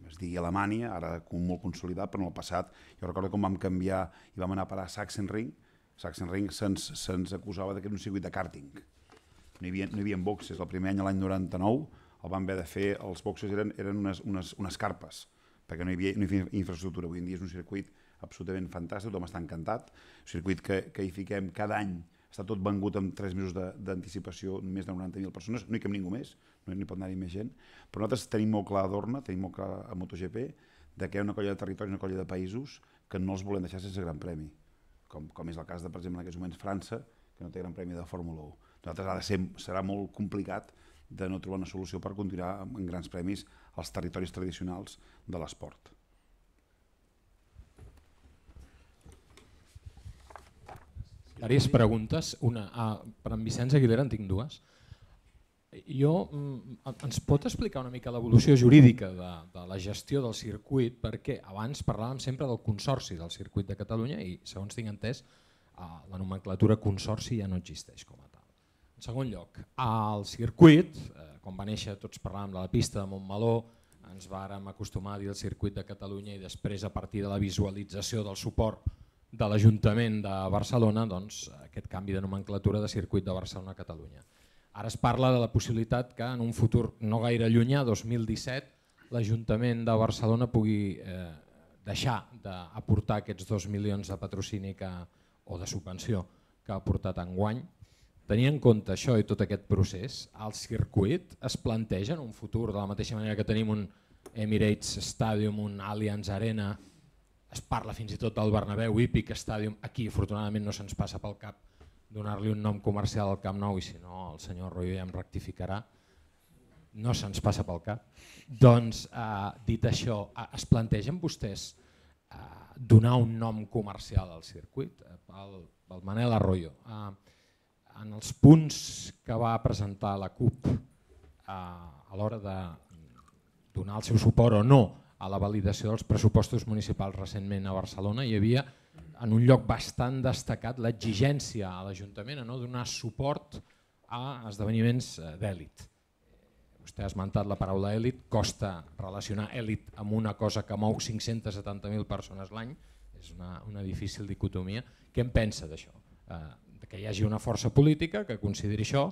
Es digui Alemanya, ara molt consolidat, però en el passat jo recordo com vam canviar i vam anar a parar a Sachsenring. Sachsenring se'ns acusava que era un circuit de karting. No hi havia boxes. El primer any, l'any 99, el vam haver de fer, els boxes eren unes carpes, perquè no hi havia infraestructura. Avui en dia és un circuit absolutament fantàstic, tothom està encantat. Un circuit que hi fiquem cada any, està tot vengut amb 3 mesos d'anticipació, més de 90.000 persones, no hi cap ningú més, no hi pot anar-hi més gent, però nosaltres tenim molt clar a Dorna, tenim molt clar a MotoGP, que hi ha una colla de territoris, una colla de països que no els volem deixar sense gran premi, com és el cas de, per exemple, en aquests moments França, que no té gran premi de Fórmula 1. Nosaltres serà molt complicat de no trobar una solució per continuar amb grans premis als territoris tradicionals de l'esport. Diverses preguntes. Una, per en Vicenç Aguilera en tinc dues. Ens pot explicar una mica l'evolució jurídica de la gestió del circuit? Perquè abans parlàvem sempre del consorci del circuit de Catalunya i, segons tinc entès, la nomenclatura consorci ja no existeix com a tal. En segon lloc, el circuit, quan va néixer tots parlàvem de la pista de Montmeló, ens vàrem acostumar a dir el circuit de Catalunya i després, a partir de la visualització del suport de l'Ajuntament de Barcelona, doncs, aquest canvi de nomenclatura de circuit de Barcelona-Catalunya. Ara es parla de la possibilitat que en un futur no gaire llunyà, 2017, l'Ajuntament de Barcelona pugui deixar d'aportar aquests 2 milions de patrocini o de subvenció que ha aportat enguany. Tenint en compte això i tot aquest procés, el circuit es planteja en un futur, de la mateixa manera que tenim un Emirates Stadium, un Allianz Arena, es parla fins i tot del Bernabéu Hípic Stadium, aquí afortunadament no se'ns passa pel cap donar-li un nom comercial al Camp Nou i si no el senyor Royo ja em rectificarà, no se'ns passa pel cap. Doncs, dit això, es plantegen vostès donar un nom comercial al circuit? Pel Manel Arroyo, en els punts que va presentar la CUP a l'hora de donar el seu suport o no a la validació dels pressupostos municipals recentment a Barcelona, hi havia en un lloc bastant destacat l'exigència a l'Ajuntament a no donar suport a esdeveniments d'èlit. Vostè ha esmentat la paraula èlit, costa relacionar èlit amb una cosa que mou 570.000 persones l'any, és una difícil dicotomia. Què en pensa d'això? Que hi hagi una força política que consideri això,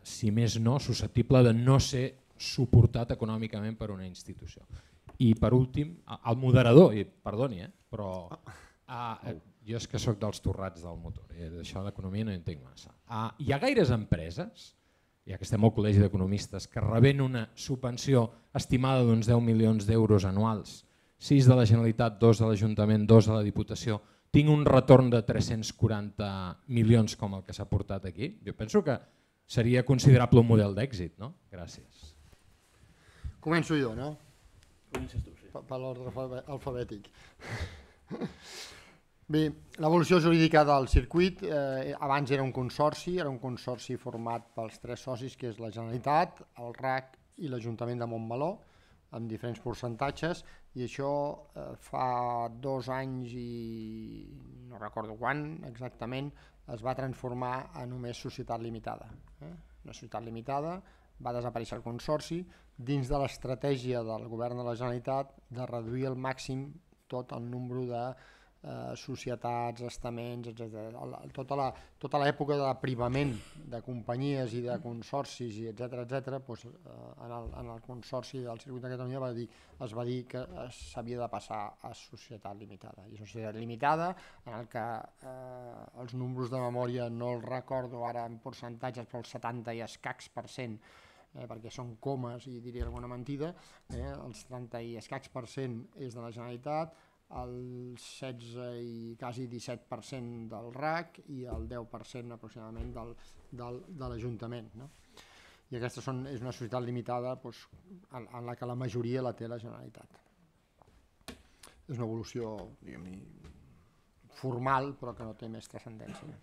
si més no, susceptible de no ser suportat econòmicament per una institució. I per últim, el moderador, i perdoni, però jo és que sóc dels torrats del motor, d'això d'economia no hi entenc massa. Hi ha gaires empreses, ja que estem al Col·legi d'Economistes, que rebent una subvenció estimada d'uns 10 milions d'euros anuals, 6 de la Generalitat, 2 de l'Ajuntament, 2 de la Diputació, tinc un retorn de 340 milions com el que s'ha portat aquí? Jo penso que seria considerable un model d'èxit, no? Gràcies. Començo jo, no? Comences tu, sí. Per l'ordre alfabètic. Bé, l'evolució jurídica del circuit, abans era un consorci format pels 3 socis, que és la Generalitat, el RAC i l'Ajuntament de Montmeló, amb diferents percentatges, i això fa 2 anys i no recordo quan exactament es va transformar en només societat limitada. Una societat limitada, va desaparèixer el consorci, dins de l'estratègia del govern de la Generalitat de reduir al màxim tot el nombre de societats, estaments, etc. Tota l'època d'aprimament de companyies i de consorcis, etc., en el consorci del Circuit de Catalunya es va dir que s'havia de passar a societat limitada. I societat limitada en el que els números de memòria no els recordo ara en percentatges, però el 70 i escacs % perquè són comes i diria alguna mentida, el 70 i escacs% és de la Generalitat, el 16 i quasi 17% del RAC i el 10% aproximadament de l'Ajuntament, no? I aquesta és una societat limitada en la que la majoria la té la Generalitat. És una evolució, diguem-ne, formal, però que no té més transcendència.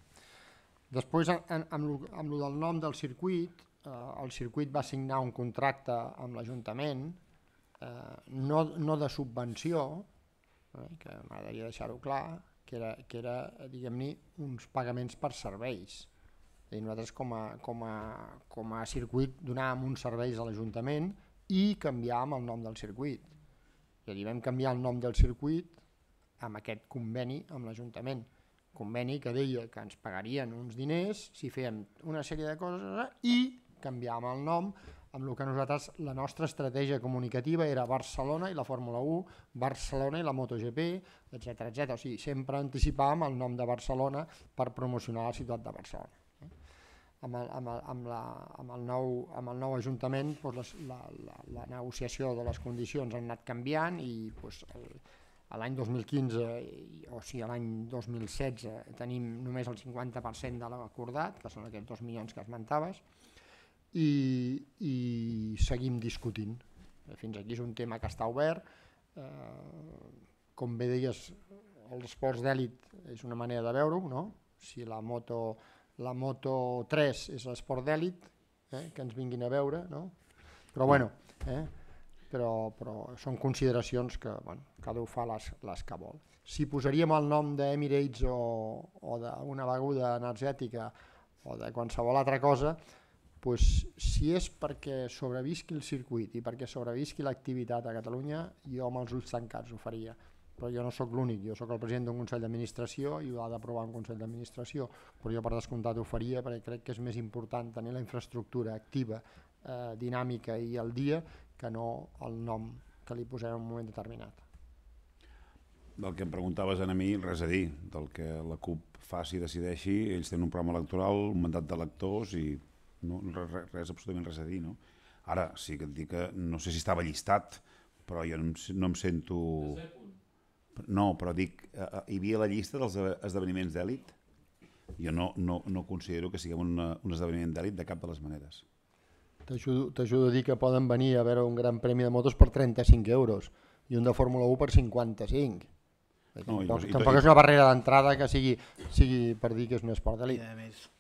Després, amb el del nom del circuit, el circuit va signar un contracte amb l'Ajuntament, no de subvenció, que m'agradaria deixar-ho clar, que era diguem-ne, uns pagaments per serveis. Nosaltres com a circuit donàvem uns serveis a l'Ajuntament i canviàvem el nom del circuit. És a dir, vam canviar el nom del circuit amb aquest conveni amb l'Ajuntament. Conveni que deia que ens pagarien uns diners si fèiem una sèrie de coses i canviàvem el nom amb el que nosaltres, la nostra estratègia comunicativa era Barcelona i la Fórmula 1, Barcelona i la MotoGP, etc. O sigui, sempre anticipàvem el nom de Barcelona per promocionar la ciutat de Barcelona. Amb el nou Ajuntament la negociació de les condicions han anat canviant i l'any 2015, o sigui l'any 2016, tenim només el 50% de l'acordat, que són aquests 2 milions que esmentaves, i seguim discutint. Fins aquí és un tema que està obert. Com bé deies, els esports d'èlit és una manera de veure-ho, no? Si la Moto 3 és l'esport d'èlit, que ens vinguin a veure, no? Però bueno, però són consideracions que cada un fa les que vol. Si posaríem el nom d'Emirates o d'una beguda energètica o de qualsevol altra cosa, si és perquè sobrevisqui el circuit i perquè sobrevisqui l'activitat a Catalunya, jo amb els ulls tancats ho faria. Però jo no sóc l'únic, jo sóc el president d'un Consell d'Administració i ho ha d'aprovar un Consell d'Administració, però jo per descomptat ho faria perquè crec que és més important tenir la infraestructura activa, dinàmica i al dia que no el nom que li posem en un moment determinat. Del que em preguntaves a mi, res a dir. Del que la CUP faci i decideixi, ells tenen un programa electoral, un mandat d'electors i res, absolutament res a dir, no? Ara, sí que et dic que no sé si estava llistat, però jo no em sento... No, però dic, hi havia la llista dels esdeveniments d'èlit? Jo no considero que siguem un esdeveniment d'èlit de cap de les maneres. T'ajudo a dir que poden venir a veure un gran premi de motos per 35 euros i un de Fórmula 1 per 55. Tampoc és una barrera d'entrada que sigui per dir que és un esport d'èlit.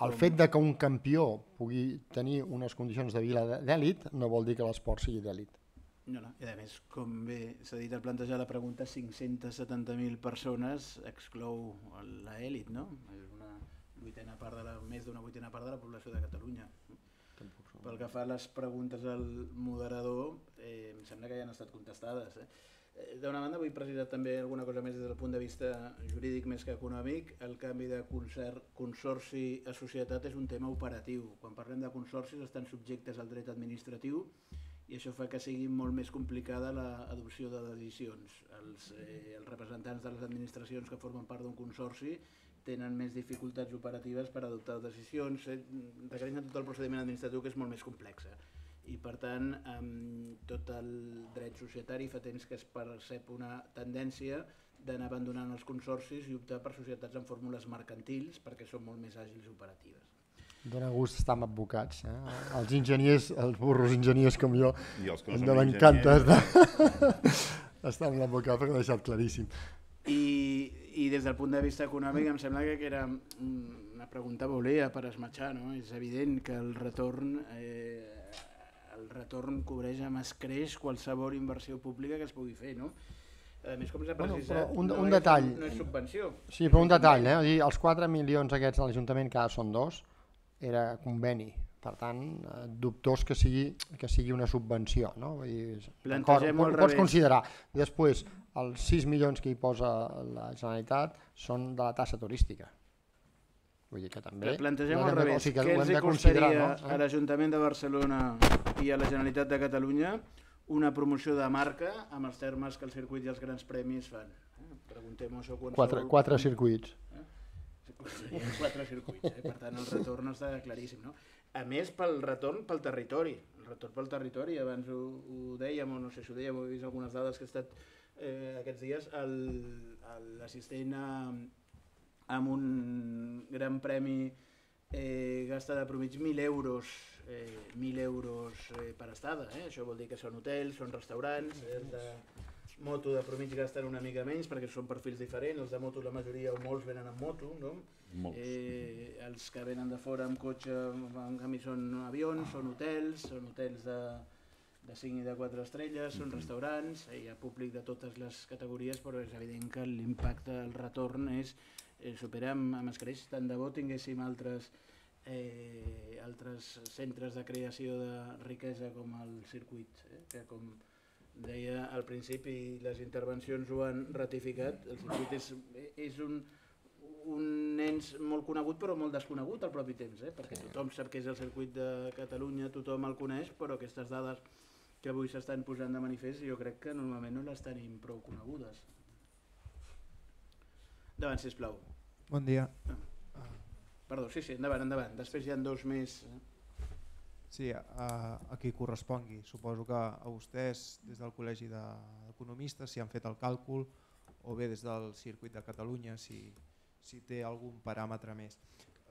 El fet de que un campió pugui tenir unes condicions de vida d'èlit no vol dir que l'esport sigui d'èlit. No, i a més, com bé s'ha dit al plantejar la pregunta, 570.000 persones exclou l'elit, no? És més d'una vuitena part de la població de Catalunya. Pel que fa a les preguntes al moderador, em sembla que ja han estat contestades. D'una banda, vull precisar també alguna cosa més des del punt de vista jurídic més que econòmic. El canvi de consorci a societat és un tema operatiu. Quan parlem de consorcis estan subjectes al dret administratiu i això fa que sigui molt més complicada l'adopció de decisions. Els representants de les administracions que formen part d'un consorci tenen més dificultats operatives per adoptar decisions, requereixen tot el procediment administratiu que és molt més complex. I per tant, amb tot el dret societari fa temps que es percep una tendència d'anar abandonant els consorcis i optar per societats amb fórmules mercantils perquè són molt més àgils i operatives. Dóna gust estar amb advocats. Els enginyers, els burros enginyers com jo, m'encanta estar amb l'advocat perquè l'ha deixat claríssim. I des del punt de vista econòmic em sembla que era una pregunta volia per esmatxar, no? És evident que el retorn cobreix amb escreix qualsevol inversió pública que es pugui fer, no? A més, com s'ha precisat, un detall. No és subvenció. Sí, però un detall, els 4 milions aquests de l'Ajuntament, que ara són 2, era conveni. Per tant, dubtós que sigui una subvenció. No? Ho pots considerar. Després, els 6 milions que hi posa la Generalitat són de la taxa turística. Vull dir que també... Plantegem al revés. Què els costaria a l'Ajuntament de Barcelona i a la Generalitat de Catalunya una promoció de marca amb els termes que el circuit i els grans premis fan? Preguntem-ho això qualsevol... 4 circuits. 4 circuits, per tant el retorn està claríssim, no? A més pel retorn pel territori. El retorn pel territori. Abans ho dèiem, o no sé si ho dèiem, ho he vist algunes dades que he estat aquests dies, l'assistent amb un gran premi gasta de promig 1.000 euros per estada. Això vol dir que són hotels, són restaurants, els de moto de promig gasten una mica menys perquè són perfils diferents, els de moto la majoria o molts venen amb moto, no? Els que venen de fora amb cotxe en canvi són avions, són hotels de 5 i de 4 estrelles, són restaurants, hi ha públic de totes les categories, però és evident que l'impacte, el retorn supera amb escreix. Tant de bo tinguéssim altres centres de creació de riquesa com el circuit, que com deia al principi, les intervencions ho han ratificat, el circuit és un ens molt conegut però molt desconegut al propi temps, perquè tothom sap que és el circuit de Catalunya, tothom el coneix, però aquestes dades que avui s'estan posant de manifest jo crec que normalment no les tenim prou conegudes. Endavant, sisplau. Bon dia. Perdó, sí, endavant. Després hi ha dos més. Sí, a qui correspongui. Suposo que a vostès, des del Col·legi d'Economistes, si han fet el càlcul, o bé des del Circuit de Catalunya, si té algun paràmetre més.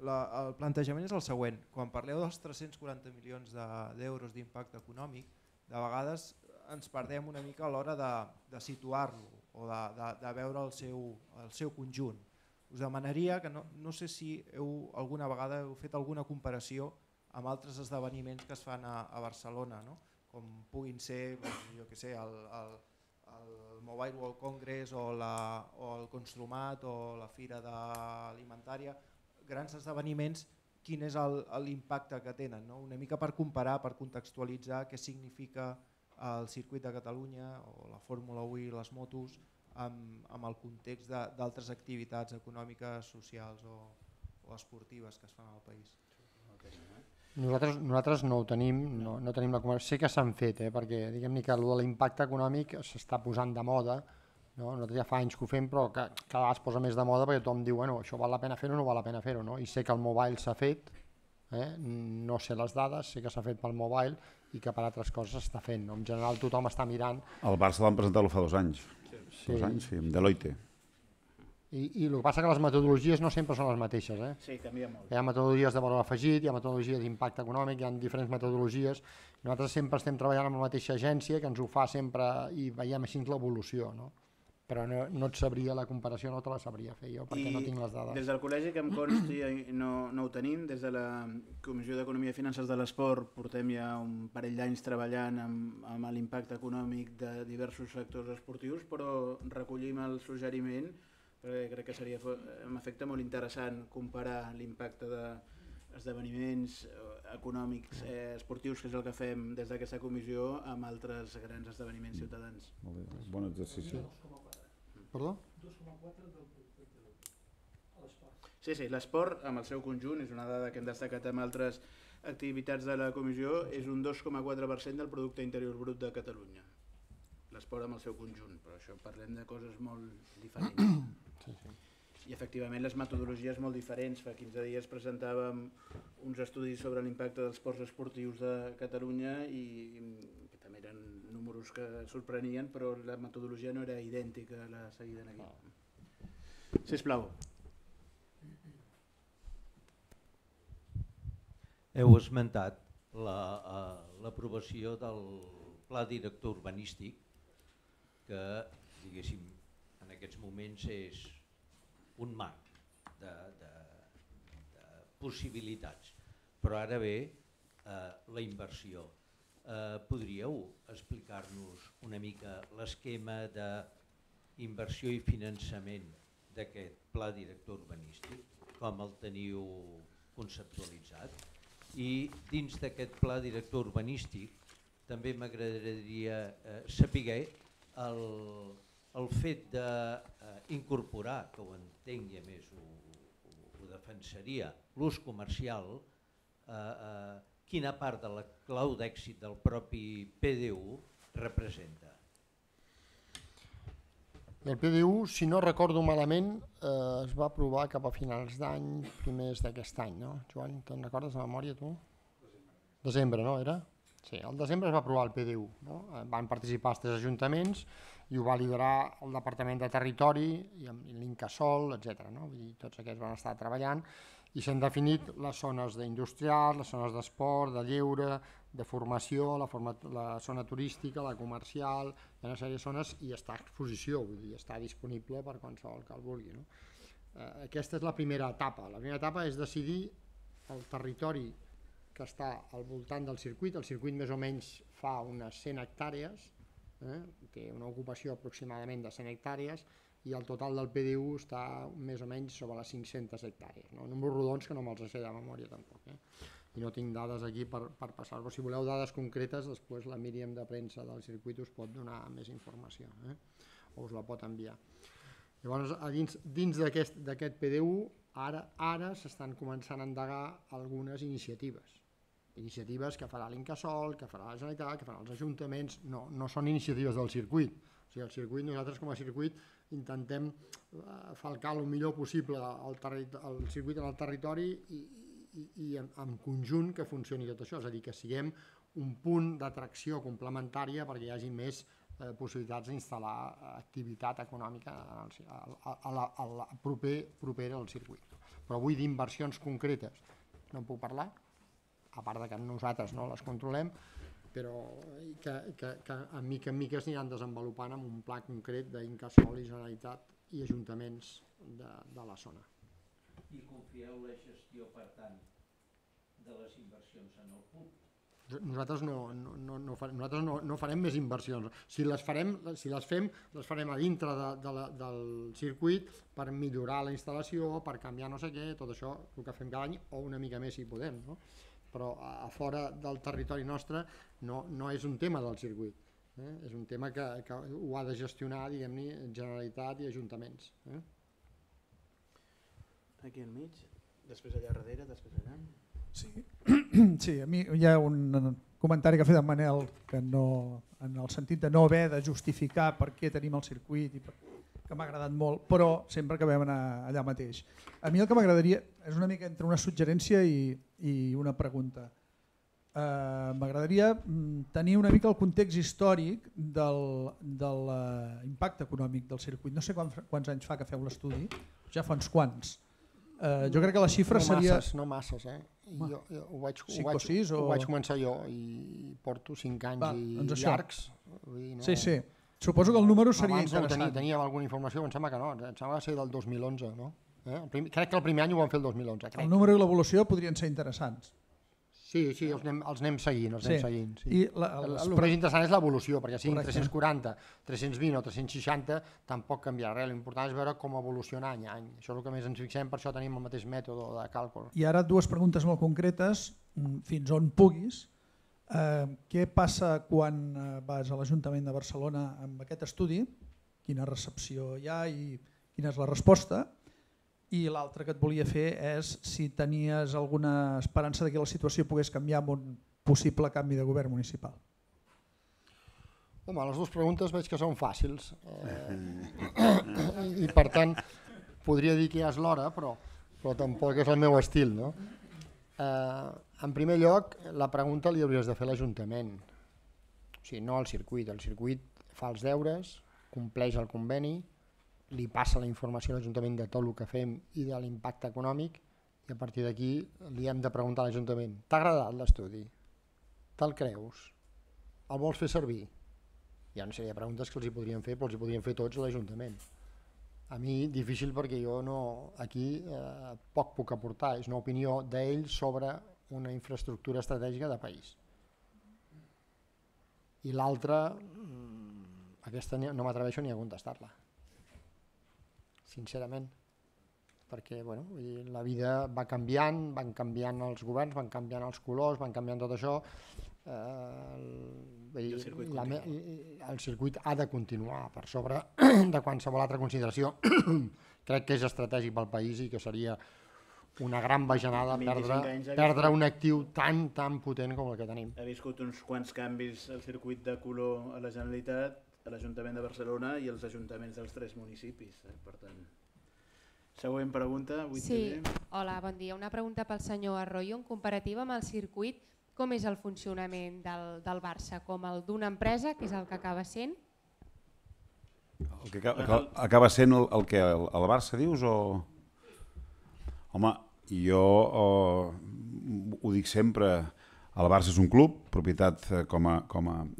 El plantejament és el següent. Quan parleu dels 340 milions d'euros d'impacte econòmic, de vegades ens perdem una mica a l'hora de situar-lo o de veure el seu conjunt. Us demanaria que no sé si alguna vegada heu fet alguna comparació amb altres esdeveniments que es fan a Barcelona, com puguin ser el Mobile World Congress o el Construmat o la Fira Alimentària, grans esdeveniments, quin és l'impacte que tenen, una mica per comparar, per contextualitzar què significa el circuit de Catalunya o la Fórmula 1 i les motos amb el context d'altres activitats econòmiques, socials o esportives que es fan al país. Nosaltres no ho tenim, no tenim la comparació. Sé que s'han fet, perquè diguem-ne que l'impacte econòmic s'està posant de moda. Nosaltres ja fa anys que ho fem, però cada vegada es posa més de moda perquè tothom diu això val la pena fer-ho o no val la pena fer-ho. I sé que el mobile s'ha fet, no sé les dades, sé que s'ha fet pel mobile i que per altres coses s'està fent. En general tothom està mirant. El Barça l'han presentat fa 2 anys. 2 anys, sí, amb Deloitte. I el que passa que les metodologies no sempre són les mateixes. Sí, canvia molt. Hi ha metodologies de valor afegit, hi ha metodologies d'impacte econòmic, hi ha diferents metodologies. Nosaltres sempre estem treballant amb la mateixa agència que ens ho fa sempre i veiem així l'evolució. Però no et sabria la comparació, no te la sabria fer jo perquè no tinc les dades. Des del col·legi que em consti no ho tenim, des de la Comissió d'Economia i Finances de l'Esport portem ja un parell d'anys treballant amb l'impacte econòmic de diversos sectors esportius, però recollim el suggeriment perquè crec que seria en efecte molt interessant comparar l'impacte d'esdeveniments econòmics esportius, que és el que fem des d'aquesta comissió, amb altres grans esdeveniments ciutadans. Molt bé, bon exercici. Perdó? 2,4 del producte interior a l'esport. Sí, l'esport amb el seu conjunt, és una dada que hem destacat amb altres activitats de la comissió, és un 2,4% del producte interior brut de Catalunya. L'esport amb el seu conjunt, però això parlem de coses molt diferents. I efectivament les metodologies molt diferents. Fa 15 dies presentàvem uns estudis sobre l'impacte dels ports esportius de Catalunya i que també eren números que sorprenien, però la metodologia no era idèntica a la seguida aquí. Sisplau. Heu esmentat l'aprovació del Pla Director Urbanístic, que, diguéssim, en aquests moments és un marc de possibilitats. Però ara ve la inversió. Podríeu explicar-nos una mica l'esquema d'inversió i finançament d'aquest Pla Director Urbanístic, com el teniu conceptualitzat? I dins d'aquest Pla Director Urbanístic també m'agradaria saber el fet d'incorporar, que ho entenc i a més ho defensaria, l'ús comercial, quina part de la clau d'èxit del propi PDU representa? El PDU, si no recordo malament, es va aprovar cap a finals d'any, primers d'aquest any, no? Joan, te'n recordes de memòria tu? Desembre, no era? Sí, al desembre es va aprovar el PDU, no? Van participar els 3 ajuntaments i ho va liderar el Departament de Territori i l'Incasòl, etc. No? Vull dir, tots aquests van estar treballant i s'han definit les zones d'industrials, les zones d'esport, de lleure, de formació, la zona turística, la comercial, hi ha una sèrie de zones i està a exposició, vull dir, està disponible per qualsevol que el vulgui. No? Aquesta és la primera etapa. La primera etapa és decidir el territori que està al voltant del circuit. El circuit més o menys fa unes 100 hectàrees, té una ocupació aproximadament de 100 hectàrees i el total del PDU està més o menys sobre les 500 hectàrees. No? Números rodons que no me'ls sé de memòria tampoc. I no tinc dades aquí per passar-vos. Si voleu dades concretes, després la Míriam de premsa del circuit us pot donar més informació, o us la pot enviar. Llavors, dins d'aquest PDU, ara s'estan començant a endegar algunes iniciatives que farà l'Incasòl, que farà la Generalitat, que faran els ajuntaments, no són iniciatives del circuit. O sigui, el circuit, nosaltres com a circuit intentem falcar el millor possible el circuit en el territori i en conjunt que funcioni tot això, és a dir, que siguem un punt d'atracció complementària perquè hi hagi més possibilitats d'instal·lar activitat econòmica propera al circuit. Però vull dir inversions concretes, no en puc parlar, a part que nosaltres no les controlem, però que en mica en mica es aniran desenvolupant amb un pla concret d'Incasòl i Generalitat i ajuntaments de la zona. I confieu la gestió, per tant, de les inversions en el PUB? Nosaltres no farem més inversions. Si les fem, les farem a dintre del circuit per millorar la instal·lació, per canviar no sé què, tot això el que fem cada any, o una mica més si podem, no? Però a fora del territori nostre no és un tema del circuit, és un tema que ho ha de gestionar, diguem-ne, Generalitat i ajuntaments. Aquí al mig, després allà darrere, després allà. Sí, a mi hi ha un comentari que ha fet en Manel que no, en el sentit de no haver de justificar per què tenim el circuit i que m'ha agradat molt, però sempre acabem allà mateix. A mi el que m'agradaria és una mica entre una suggerència i una pregunta. M'agradaria tenir una mica el context històric de l'impacte econòmic del circuit. No sé quants anys fa que feu l'estudi, ja fa uns quants. Jo crec que la xifra seria... No masses, ho vaig començar jo i porto 5 anys llargs. Sí, suposo que el número seria interessant. Abans teníem alguna informació, em sembla que no, em sembla que va ser del 2011, no? Crec que el primer any ho vam fer el 2011. El número i l'evolució podrien ser interessants. Sí, els anem seguint. I el més interessant és l'evolució, perquè siguin 340, 320 o 360 tampoc canviarà res, l'important és veure com evoluciona any a any. Això és el que més ens fixem, per això tenim el mateix mètode de càlcul. I ara 2 preguntes molt concretes, fins on puguis. Què passa quan vas a l'Ajuntament de Barcelona amb aquest estudi? Quina recepció hi ha i quina és la resposta? I l'altre que et volia fer és si tenies alguna esperança que la situació pogués canviar amb un possible canvi de govern municipal. Home, les 2 preguntes veig que són fàcils i per tant podria dir que ja és l'hora, però tampoc és el meu estil. No? En primer lloc, la pregunta li hauries de fer a l'Ajuntament, o sigui, no al circuit. El circuit fa els deures, compleix el conveni, li passa la informació a l'Ajuntament de tot el que fem i de l'impacte econòmic i a partir d'aquí li hem de preguntar a l'Ajuntament: t'ha agradat l'estudi? Te'l creus? El vols fer servir? Hi ha una sèrie de preguntes que els hi podríem fer, però els hi podríem fer tots a l'Ajuntament. A mi difícil perquè jo aquí poc puc aportar, és una opinió d'ells sobre una infraestructura estratègica de país. I l'altra, aquesta no m'atreveixo ni a contestar-la, sincerament, perquè la vida va canviant, van canviant els governs, van canviant els colors, van canviant tot això. El circuit ha de continuar per sobre de qualsevol altra consideració. Crec que és estratègic pel país i que seria una gran bajanada perdre un actiu tan potent com el que tenim. Ha viscut uns quants canvis el circuit de color a la Generalitat, a l'Ajuntament de Barcelona i els ajuntaments dels 3 municipis. Per tant, següent pregunta. Sí, hola, bon dia. Una pregunta pel senyor Arroyo. En comparativa amb el circuit, com és el funcionament del Barça? Com el d'una empresa, que és el que acaba sent? El que acaba sent el que el Barça dius o...? Home, jo ho dic sempre, el Barça és un club, propietat com a...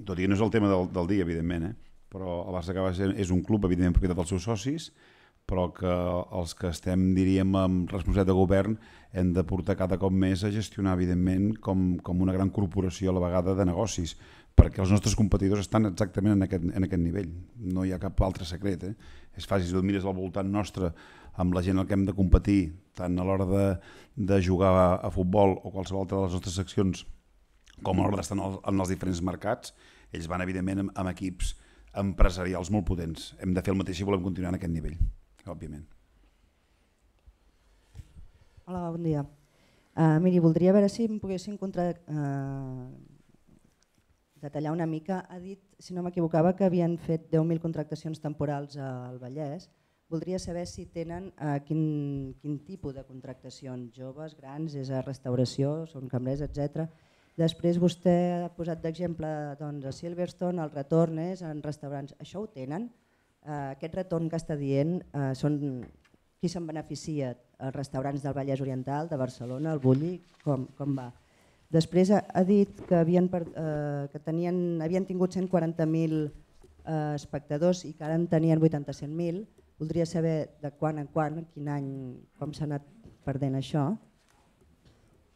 Tot i que no és el tema del dia, evidentment, però el Barça acaba sent, és un club, evidentment, propietat dels seus socis, però que els que estem, diríem, amb responsabilitat de govern hem de portar cada cop més a gestionar, evidentment, com una gran corporació a la vegada de negocis, perquè els nostres competidors estan exactament en aquest nivell. No hi ha cap altre secret. És fàcil, si tu mires al voltant nostre, amb la gent amb què hem de competir, tant a l'hora de jugar a futbol o qualsevol altra de les nostres seccions, com a l'hora d'estar en els diferents mercats, ells van, evidentment, amb equips empresarials molt potents. Hem de fer el mateix si volem continuar en aquest nivell, òbviament. Hola, bon dia. Miri, voldria veure si em poguessin detallar una mica. Ha dit, si no m'equivocava, que havien fet 10.000 contractacions temporals al Vallès. Voldria saber si tenen quin tipus de contractacions, joves, grans, és a restauració, són cambrers, etc. Després vostè ha posat d'exemple a Silverstone, el retorn és en restaurants. Això ho tenen? Aquest retorn que està dient, qui se'n beneficia? Els restaurants del Vallès Oriental, de Barcelona, el Bulli, com va? Després ha dit que havien tingut 140.000 espectadors i que ara en tenien 87.000. Voldria saber de quan en quan, quin any, com s'ha anat perdent això.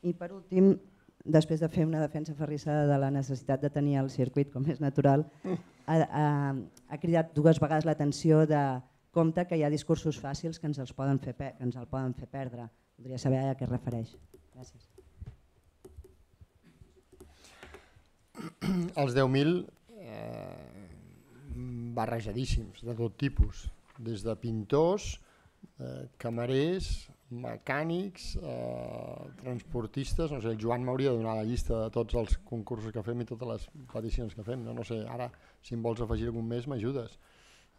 I per últim, després de fer una defensa ferrissada de la necessitat de tenir el circuit com és natural, ha cridat 2 vegades l'atenció de compte que hi ha discursos fàcils que ens el poden fer perdre. Voldria saber a què es refereix. Gràcies. Els 10.000 barrejadíssims, de tot tipus, des de pintors, camarers, mecànics, transportistes. No sé, el Joan m'hauria de donar la llista de tots els concursos que fem i totes les peticions que fem. No sé, ara si em vols afegir algun més m'ajudes.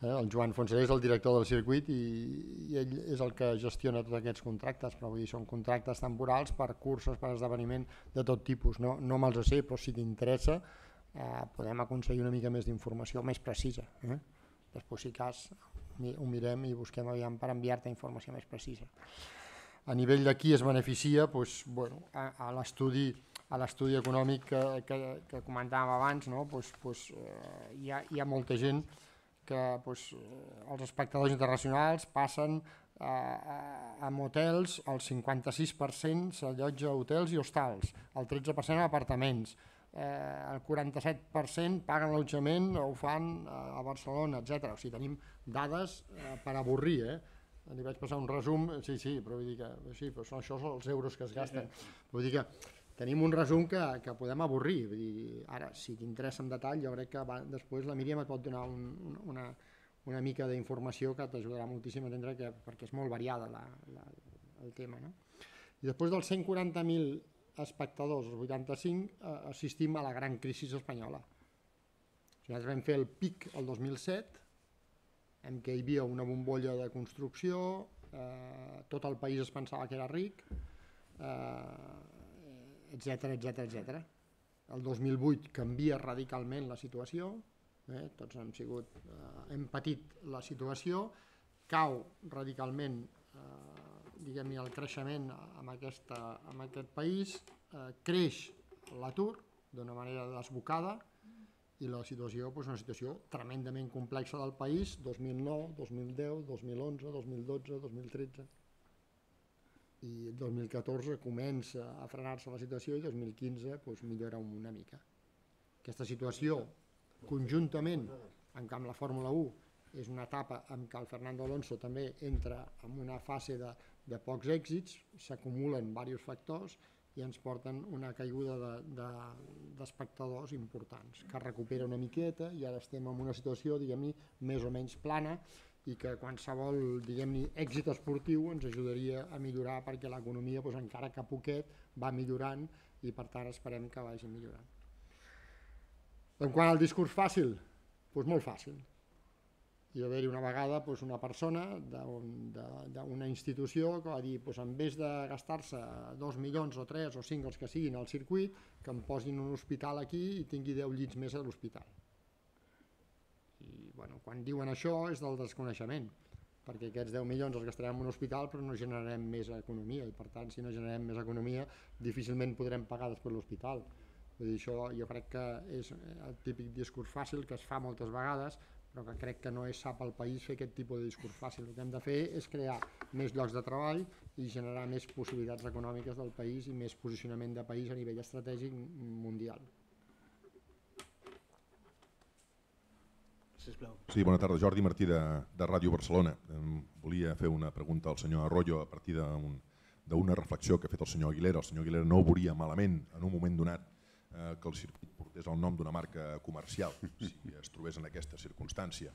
El Joan Fonseca és el director del circuit i ell és el que gestiona tots aquests contractes, però vull dir, són contractes temporals per curses, per esdeveniment de tot tipus. No me'ls sé, però si t'interessa podem aconseguir una mica més d'informació més precisa. Després, si cas, ho mirem i busquem aviam per enviar-te informació més precisa. A nivell de qui es beneficia, a l'estudi econòmic que comentàvem abans, hi ha molta gent que els espectadors internacionals passen a motels, el 56% s'allotja a hotels i hostals, el 13% a apartaments, el 47% paguen l'allotjament o ho fan a Barcelona, etc. O sigui, tenim dades per avorrir, Li vaig passar un resum, sí, però vull dir que sí, però això són els euros que es gasten. Vull dir que tenim un resum que podem avorrir. Vull dir, ara, si t'interessa en detall, jo crec que després la Míriam et pot donar una mica d'informació que t'ajudarà moltíssim a entendre perquè és molt variada el tema. I després dels 140.000 espectadors, els 85, assistim a la gran crisi espanyola. Nosaltres vam fer el pic el 2007, en què hi havia una bombolla de construcció, tot el país es pensava que era ric, etc. El 2008 canvia radicalment la situació, tots hem patit la situació, cau radicalment el creixement en aquest país, creix l'atur d'una manera desbocada, i la situació és una situació tremendament complexa del país, 2009, 2010, 2011, 2012, 2013. I el 2014 comença a frenar-se la situació i el 2015 millora una mica. Aquesta situació, conjuntament amb la Fórmula 1, és una etapa en què el Fernando Alonso també entra en una fase de pocs èxits, s'acumulen diversos factors i ens porten una caiguda d'espectadors importants, que recupera una miqueta i ara estem en una situació, diguem-ne, més o menys plana i que qualsevol, diguem-ne, èxit esportiu ens ajudaria a millorar perquè l'economia, encara que poquet, va millorant i per tant esperem que vagi millorant. En quant al discurs fàcil, molt fàcil. Hi va haver-hi una vegada una persona d'una institució que va dir en vez de gastar-se 2 milions o 3 o 5 els que siguin al circuit, que em posin un hospital aquí i tingui 10 llits més a l'hospital. I quan diuen això és del desconeixement, perquè aquests 10 milions els gastarem en un hospital però no generarem més economia, i per tant si no generem més economia difícilment podrem pagar després l'hospital. Vull dir, això jo crec que és el típic discurs fàcil que es fa moltes vegades, però que crec que no és sa pel país fer aquest tipus de discurs fàcil. El que hem de fer és crear més llocs de treball i generar més possibilitats econòmiques del país i més posicionament de país a nivell estratègic mundial. Sí, bona tarda. Jordi Martí de Ràdio Barcelona. Volia fer una pregunta al senyor Arroyo a partir d'una reflexió que ha fet el senyor Aguilera. El senyor Aguilera no veuria malament en un moment donat que el circuit portés el nom d'una marca comercial, si es trobés en aquesta circumstància.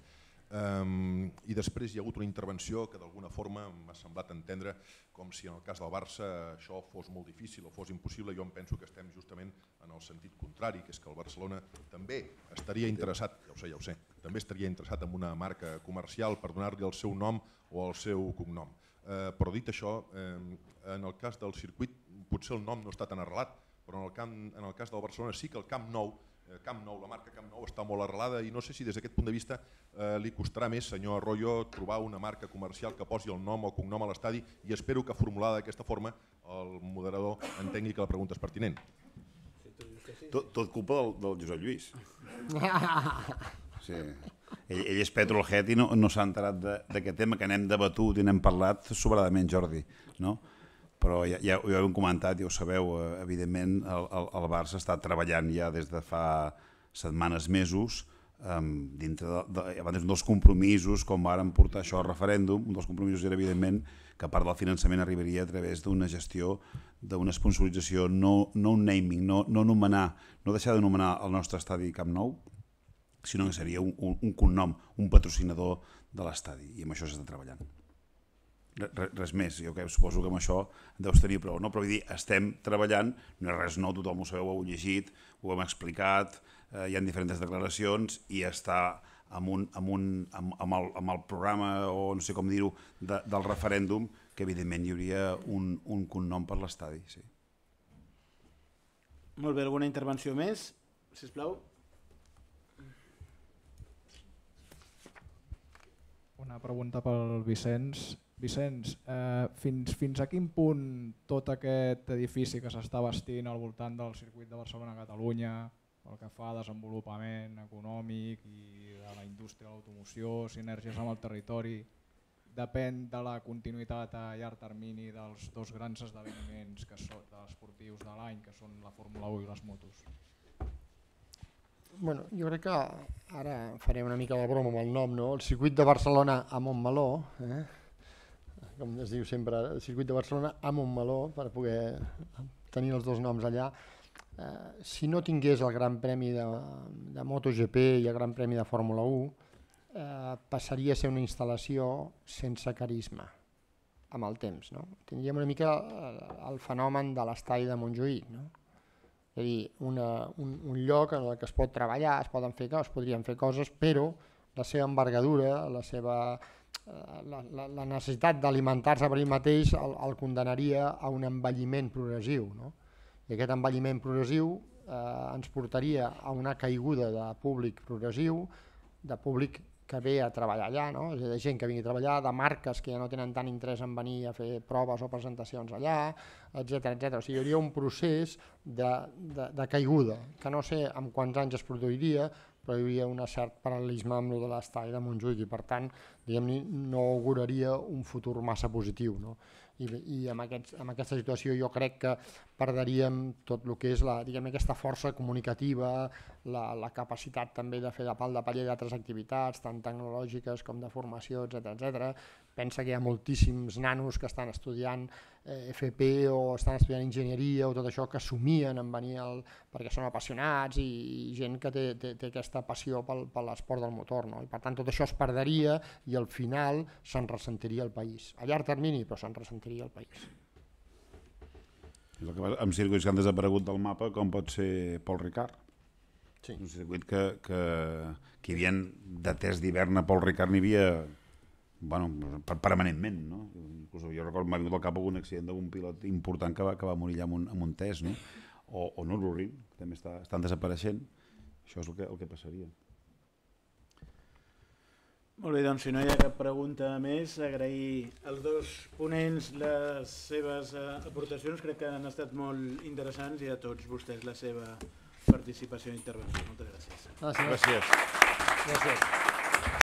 I després hi ha hagut una intervenció que d'alguna forma m'ha semblat entendre com si en el cas del Barça això fos molt difícil o fos impossible. Jo em penso que estem justament en el sentit contrari, que és que el Barcelona també estaria interessat, ja ho sé, també estaria interessat en una marca comercial per donar-li el seu nom o el seu cognom. Però dit això, en el cas del circuit potser el nom no està tan arrelat, però en el cas del Barcelona sí que el Camp Nou, la marca Camp Nou està molt arrelada i no sé si des d'aquest punt de vista li costarà més, senyor Arroyo, trobar una marca comercial que posi el nom o cognom a l'estadi, i espero que formulada d'aquesta forma el moderador entengui que la pregunta és pertinent. Tot culpa del Josep Lluís. Ell és petrolhead i no s'ha enterat d'aquest tema que n'hem debatut i n'hem parlat sobradament, Jordi, no? Però ja ho hem comentat, ja ho sabeu, evidentment el Barça està treballant ja des de fa setmanes, mesos, dintre dels compromisos, com vàrem portar això al referèndum. Un dels compromisos era, evidentment, que part del finançament arribaria a través d'una gestió, d'una sponsorització, no un naming, no deixar d'anomenar el nostre estadi Camp Nou, sinó que seria un cognom, un patrocinador de l'estadi, i amb això s'està treballant. Res més, jo suposo que amb això deus tenir prou, però vull dir, estem treballant, no és res nou, tothom ho sabeu, ho heu llegit, ho hem explicat, hi ha diferents declaracions i està amb el programa, o no sé com dir-ho, del referèndum, que evidentment hi hauria un cognom per l'estadi. Molt bé, alguna intervenció més, sisplau? Una pregunta pel Vicenç. Vicenç, fins a quin punt tot aquest edifici que s'està bastint al voltant del circuit de Barcelona-Catalunya, pel que fa a desenvolupament econòmic i de la indústria de l'automoció, sinergies amb el territori, depèn de la continuïtat a llarg termini dels dos grans esdeveniments esportius de l'any, que són la Fórmula 1 i les motos? Bueno, jo crec que ara faré una mica de broma amb el nom, no? El circuit de Barcelona a Montmeló, com es diu sempre, el circuit de Barcelona a Montmeló, per poder tenir els dos noms allà. Si no tingués el Gran Premi de MotoGP i el Gran Premi de Fórmula 1, passaria a ser una instal·lació sense carisma amb el temps, no? Tindríem una mica el fenomen de l'estadi de Montjuïc, no? És a dir, un lloc en el que es pot treballar, es podrien fer coses, però la seva envergadura, la necessitat d'alimentar-se per ell mateix el condenaria a un envelliment progressiu, no? I aquest envelliment progressiu ens portaria a una caiguda de públic progressiu, de públic que ve a treballar allà, no? És a dir, de gent que vingui a treballar, de marques que ja no tenen tant interès en venir a fer proves o presentacions allà, etc. O sigui, hi hauria un procés de caiguda, que no sé en quants anys es produiria, però hi hauria un cert paral·lelisme amb el de l'estadi de Montjuïc i per tant no auguraria un futur massa positiu, no? I amb aquesta situació jo crec que perdríem tot el que és aquesta força comunicativa, la capacitat també de fer de pal de paller d'altres activitats, tant tecnològiques com de formació, etc. Pensa que hi ha moltíssims nanos que estan estudiant FP o estan estudiant enginyeria o tot això, que somien en venir perquè són apassionats i gent que té aquesta passió per l'esport del motor, no? I per tant tot això es perdria i al final se'n ressentiria el país. A llarg termini, però se'n ressentiria el país. Amb circuits que han desaparegut del mapa, com pot ser Paul Ricard. Sí. Un circuit que hi havia de test d'hivern a Paul Ricard n'hi havia permanentment, no? Inclús jo recordo m'ha vingut al cap algun accident d'algun pilot important que va morir allà amb un test, no? O Nürburgring, que també estan desapareixent. Això és el que passaria. Molt bé, doncs si no hi ha cap pregunta més, agrair als dos ponents les seves aportacions, crec que han estat molt interessants, i a tots vostès la seva participació i intervenció. Moltes gràcies. Gràcies.